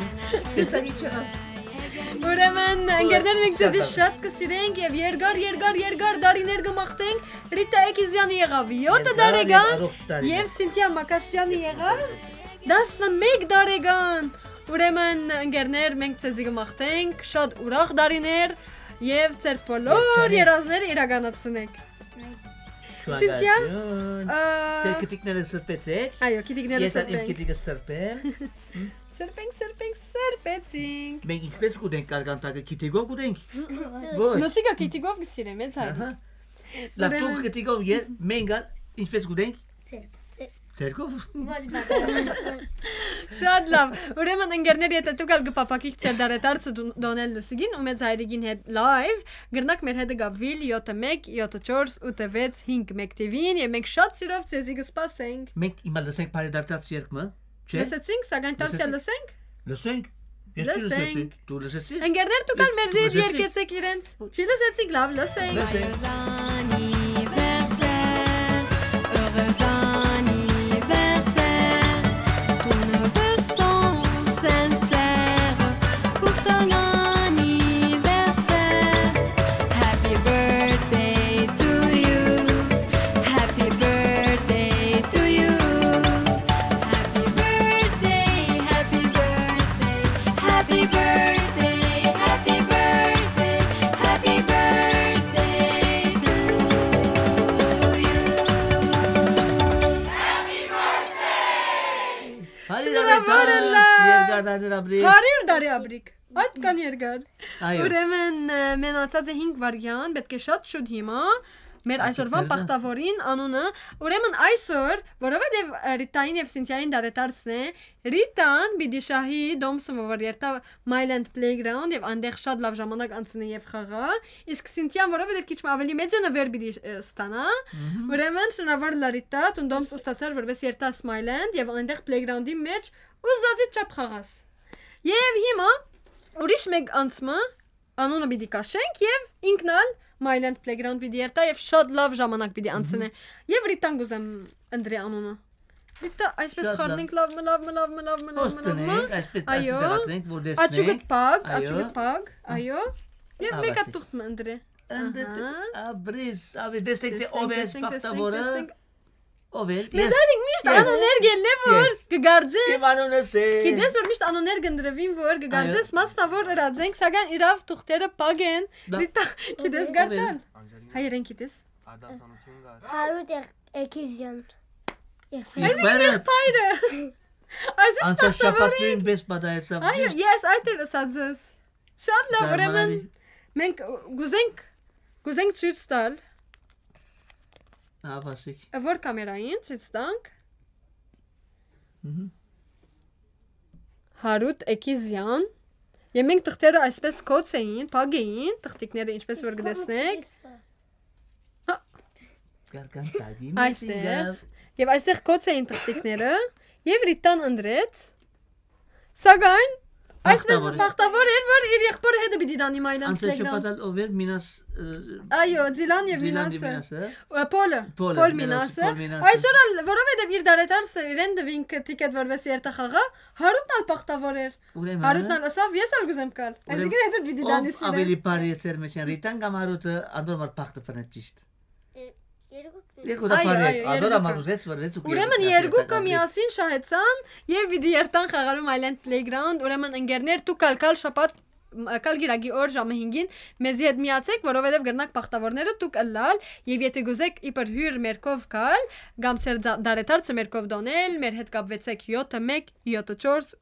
տեսա ինչ եղա։ Ուրեմն, ընկերներ, մենք ձեզի շատ շատ կսիրենք և երկար, երկար, երկար դարիներ կմաղթենք։ Ռիտա Էքիզյանի եղավ յոթ Երկար և տարեկան առողջ տարիներ։ և Սինթիա Մակաշյանի եղավ տասնմեկ տարեկան։ Ուրեմն, ընկերներ, մենք ձեզի կմաղթենք շատ ուրախ դարիներ և ձեր բոլոր Երջանիկ։ Երազները իրականացնեք։ Nice։ Սինթիա, Շնորհակալություն։ Ա, Ձեր քթիկները սրբեցեք։ Այո, քթիկները Ես ալ իմ սրբենք։ Քթիկը սրբեմ։ Սրբենք, սրբենք, սրբեցինք։ Մենք ինչպես կուտենք կարգանտակը, քթիկով կուտենք։ Ոչ։ Լուսիկը քթիկով կսիրեմ, հենց Ահա։ Հայրիկ։ Լավ, դու Ուրեմն քթիկով եր, մենք ալ ինչպես կուտենք։ Ձեր, ձեր։ Ձերքով։ Ոչ բան։ Շատ լավ։ Ուրեմն, ընկերներ, եթե դուք ալ կփափակիք ձեր դարեդարձը դու-, դոնել Լուսիկին ու մեծ հայրիկին հետ լայվ, գրնակ մեր հետ կապվել յոթը մեկ, յոթը չորս, ութը վեց, հինգ մեկ թիվին, և մենք շատ սիրով ձեզի կսպասենք։ Մենք հիմա լսենք բարեդարձած երգը, չէ՞։ Լսեցինք, սակայն դարձյալ Լսեցինք։ Լսենք։ Լսենք։ Ես չի Լսենք։ Լսեցի։ Դու լսեցի՞ս։ Ընկերներ, դուք ալ Ես- մերզի հետ լսեցի։ Երկեցեք իրենց։ Չի լսեցիք, լավ, լսենք։ Լսենք։ Joyeux anniversaire, heureux anniversaire, tous nos vœux sont sincères pour ton anniversaire. Happy birthday to you. Happy birthday to you. Happy birthday, happy birthday, happy birthday, happy birthday, happy birthday to you. Հարի Շնորհավորը դարի լավ։ Երկար դարի ապրի։ Հարյուր դարի ապրիկ։ Այդ կան երկար։ Այո։ Ուրեմն, ը, մնացած է հինգ վայրկյան, պետք է շատ շուտ հիմա մեր այսօրվան բախտաւորին անունը։ Ուրեմն այսօր, որովհետեւ, ը, Ռիտային եւ Սինթիային դարեդարձն է, Ռիտան պիտի շահի Դոմսը, որ երթայ Myland Playground, եւ այնտեղ շատ լավ ժամանակ անցնի եւ խաղա, իսկ Սինթիան, որովհետեւ քիչ մը ավելի մեծ է, նվեր պիտի, ը, ստանայ։ Մհմ։ Ուրեմն շնորհաւոր Լարիտա, դուն Դոմս ստացար, որպէս երթաս Myland, եւ այնտեղ Playground-ի մէջ ուզածի չափ խաղաս։ Եւ հիմա ուրիշ մէկ անձ մը անունը պիտի քաշենք եւ ինքն ալ Myland Playground պիտի երթայ եւ շատ լավ ժամանակ պիտի անցնէ։ Մհմ։ Եւ Ռիտան կուզեմ ընտրի անունը։ Ռիտա, այսպես շատ լավ։ Խառնենք լավ մը, լավ մը, լավ մը, լավ մը, լավ մը, լավ մը։ Հոս տնենք, այսպես դասի Այո։ Կը դառնենք, որ տեսնենք։ Աչուկդ փակ, Այո։ Աչուկդ փակ, այո։ Եւ Ա, մեկը վասի։ Թուղթ մը ընտրի։ Ընդ-, Ահա։ Աբրիս, աբի, տեսնենք, թե Տեսնենք, ով է այս տեսնենք, տեսնենք, բախտավորը։ Տեսնենք։ Ով է։ Մեզ Ես, արինք միշտ ես։ Անուններ գելլե, որ Ես։ Կգարձես։ Իմ անունս է։ Գիտես, որ միշտ անուններ կընտրվին, որ կգարձես, Այո։ Մասնավոր ըրած ենք, սակայն իրաւ թուղթերը փակ են։ Դա- Ռիտա, գիտես Ով է։ Գարտան։ Հայերեն գիտես։ Արդասանություն կար։ Հարութ Էք-, Էքիզյան։ Եղբայր։ Եղբայրը։ Եղբայրը։ Այսինքն Անցած շաբաթ նույնպես պատահեցավ Այո, ճիշտ։ Ես այդ էլ ըսած ես։ Շատ լավ, ուրեմն Զարմանալի։ Մենք կուզենք, կուզենք ցույց տալ։ Ահա, ասեք։ Որ կամերային ցույց տանք։ Մհմ։ Հարութ Էքիզյան։ Եւ մենք թղթերը այսպես կոց էին, փակ էին, թղթիկները, ինչպես որ Իսկ կտեսնեք։ Խմուչից Հա։ Կարկան տագի Այստեղ։ Մեսինգա։ Եվ այստեղ կոց էին թղթիկները, եւ Ռիտան ընտրեց, սակայն այսպես Բախտավոր է։ Բախտավոր էր, որ իր եղբորը հետը պիտի տանի Myland Անցել Playground։ Շաբաթ ալ ով էր, Մինաս, ը, Այո, Զիլան եւ Զիլան Մինասը։ Մինասը։ Ա, Փոլը, Փոլը, Փոլ Մինաս, Մինասը։ Փոլ Մինասը։ Այսօր ալ, որովհետեւ իր դարեդարձը իրեն տվին ք-, ticket որպես երթախաղա, Հարութն ալ բախտավոր էր։ Ուրեմն, Հարութն ալ ըսավ, «Ես ալ կուզեմ գալ»։ ուրեմն, Այսինքն հետը պիտի ով տանես իրեն։ Ավելի բարի է ձեր մեջ են, Ռիտան կամ Հարութը, անդոր մար բախտը փնեց ճիշտ։ Ե-, երկուքն Երկու Այո, դապարի, այո, ադոր երկուքը։ Համար ուզեց, որ վեց ու Ուրեմն երկուքը երկուքը միասին շահեցան եւ պիտի երթան խաղալու Myland Playground, ուրեմն ընկերներ, դուք ալ կալ շաբաթ, մ-, կալ գիրագի օր ժամը հինգին մեզի հետ միացեք, որովհետեւ կրնակ բախտավորները դուք ըլլալ, եւ եթե գուզեք իբր հյուր մերկով գալ, կամ ձեր դա-, դարեդարձը մերկով դոնել, մեր հետ կապվեցեք յոթը մեկ, յոթը չորս,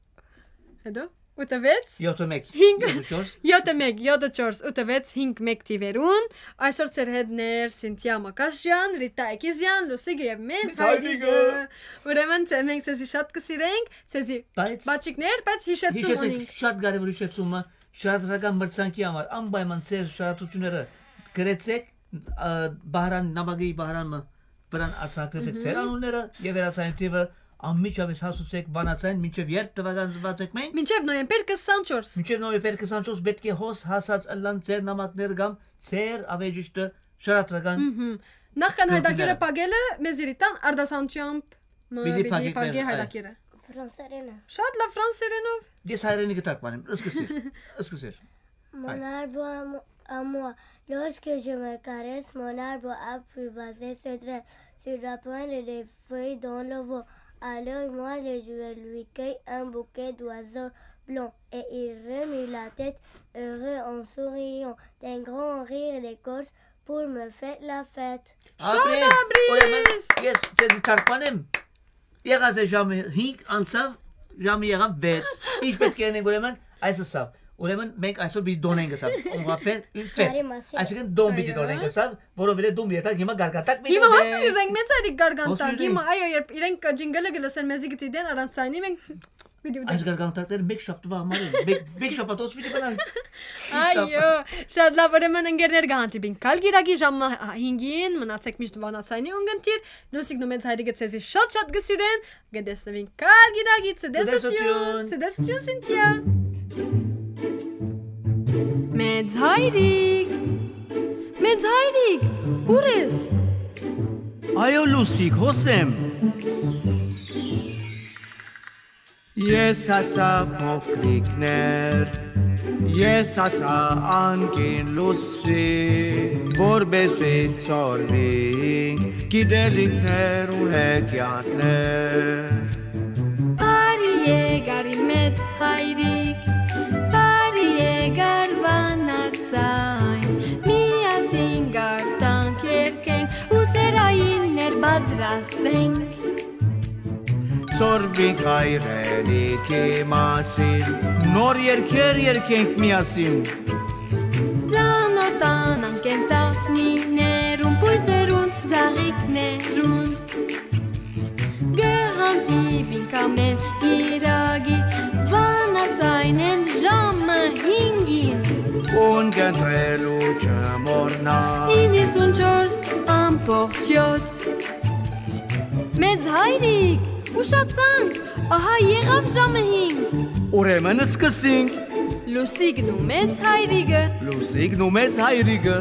հետո, ութը վեց, յոթը մեկ, հինգ, յոթը չորս։ Յոթը մեկ, յոթը չորս, ութը վեց, հինգ մեկ թիվերուն, այսօր ձեր հետն էր Սինթիա Մակաշյան, Ռիտա Էքիզյան, Լուսիկ եւ մեծ Մեծ հայրիկը։ Հայրիկը։ Ուրեմն ձեր մենք ձեզի շատ կսիրենք, ձեզի Բայց բաճիկներ, բայց հիշեցում հիշեցեք, ունենք։ Շատ կարևոր հիշեցումը, շարադրական մրցանքի համար անպայման ձեր շարադրությունները գրեցեք, ա, Բահրան, նամակի Բահրան մը վրան արձանագրեցեք Մհմ։ Ձեր անունները եւ վերացային թիվը անմիջապես հասուցեք Վանացային մինչեւ երթ տվական զբացեք մենք։ Մինչեւ նոյեմբեր քսանչորս։ Մինչեւ նոյեմբեր քսանչորս պետք է հոս հասած ըլլան ձեր նամակները կամ ձեր ավեջիշտը շարադրական Մհմ։ Նախքան հայտակիրը Գործիները։ Փակելը, մեզ իրիտան արդասանչությամբ մը Պիտի պիտի փակեք փակի մեր, այ։ Հայտակիրը։ Ֆրանսերենը։ Շատ լավ ֆրանսերենով։ Ես հայրենի կտակ բանեմ, սկսիր, սկսիր։ Mon arbre à mo-, à moi. Lorsque je me caresse, mon arbre a pris ses sauterelles sur la pointe des feuilles dans le vent. Alors moi, je vais lui cueillir un bouquet d'oiseaux blancs. Et il remue la tête, heureux en souriant, d'un grand rire d'écorce pour me faire la fête. Շատ Ապրի, Ապրի։ Ուրեմն ես քեզի թարգմանեմ։ Եղած է ժամը հինգ անցավ, ժամը եղավ վեց։ Ինչ պետք է անենք ուրեմն, այս ասավ։ Ուրեմն մենք այսօր պիտի դոնենք ասավ, on va faire une fête։ Բարի մասին։ Այսինքն դոն պիտի Այո։ Դոնենք ասավ, որովհետև դոն երթակ հիմա գարգանտակ պիտի Հիմա դոնենք։ Հաց պիտի ուզենք մեծ այդիկ գարգանտակ։ Հոս Հիմա, ուզենք։ Այո, երբ իրենք ջինգլը գլսեն, մեզի գտի դեն առանց ցայնի, մենք պիտի Այս ուտենք։ Գարգանտակները մեկ շաբթվա համար են, մեկ, մեկ շաբաթ հոս պիտի բնան։ Այո, շատ լավ, ուրեմն ընկերներ կհանդիպին կալ գիրակի ժամը հինգին, մնացեք միշտ Վանացայնի ունգընտիր, լուսիկն ու մեծ հայրիկը ձեզի շատ շատ կսիրեն, կտեսնվին կալ գիրակի, ցտեսություն, Ցտեսություն։ Ցտեսություն Սինթիա։ Մեծ հայրիկ, մեծ հայրիկ, ուր ես։ Այո, լուսիկ, հոս եմ։ Ես ասա փոքրիկներ, ես ասա անկին լուսի, որպեսի ցորվին գիտելիքներ ու հեքիաթներ։ Բարի եկար իմ մեծ հայրիկ, բարի եկար Վանացայն, միասին գարտանք երգենք ու ծերայիններ պատրաստենք։ Ցորվի հայրենիքի մասին նոր երգեր երգենք միասին։ Ծանոթանանք կենդանիներուն, բույսերուն Ընտրելու չմոռնա։ Հինգսունչորս ամբողջ յոթ։ Մեծ հայրիկ, ուշացանք, ահա եղաւ ժամը հինգ։ Ուրեմն սկսենք։ Լուսիկն ու մեծ հայրիկը։ Լուսիկն ու մեծ հայրիկը։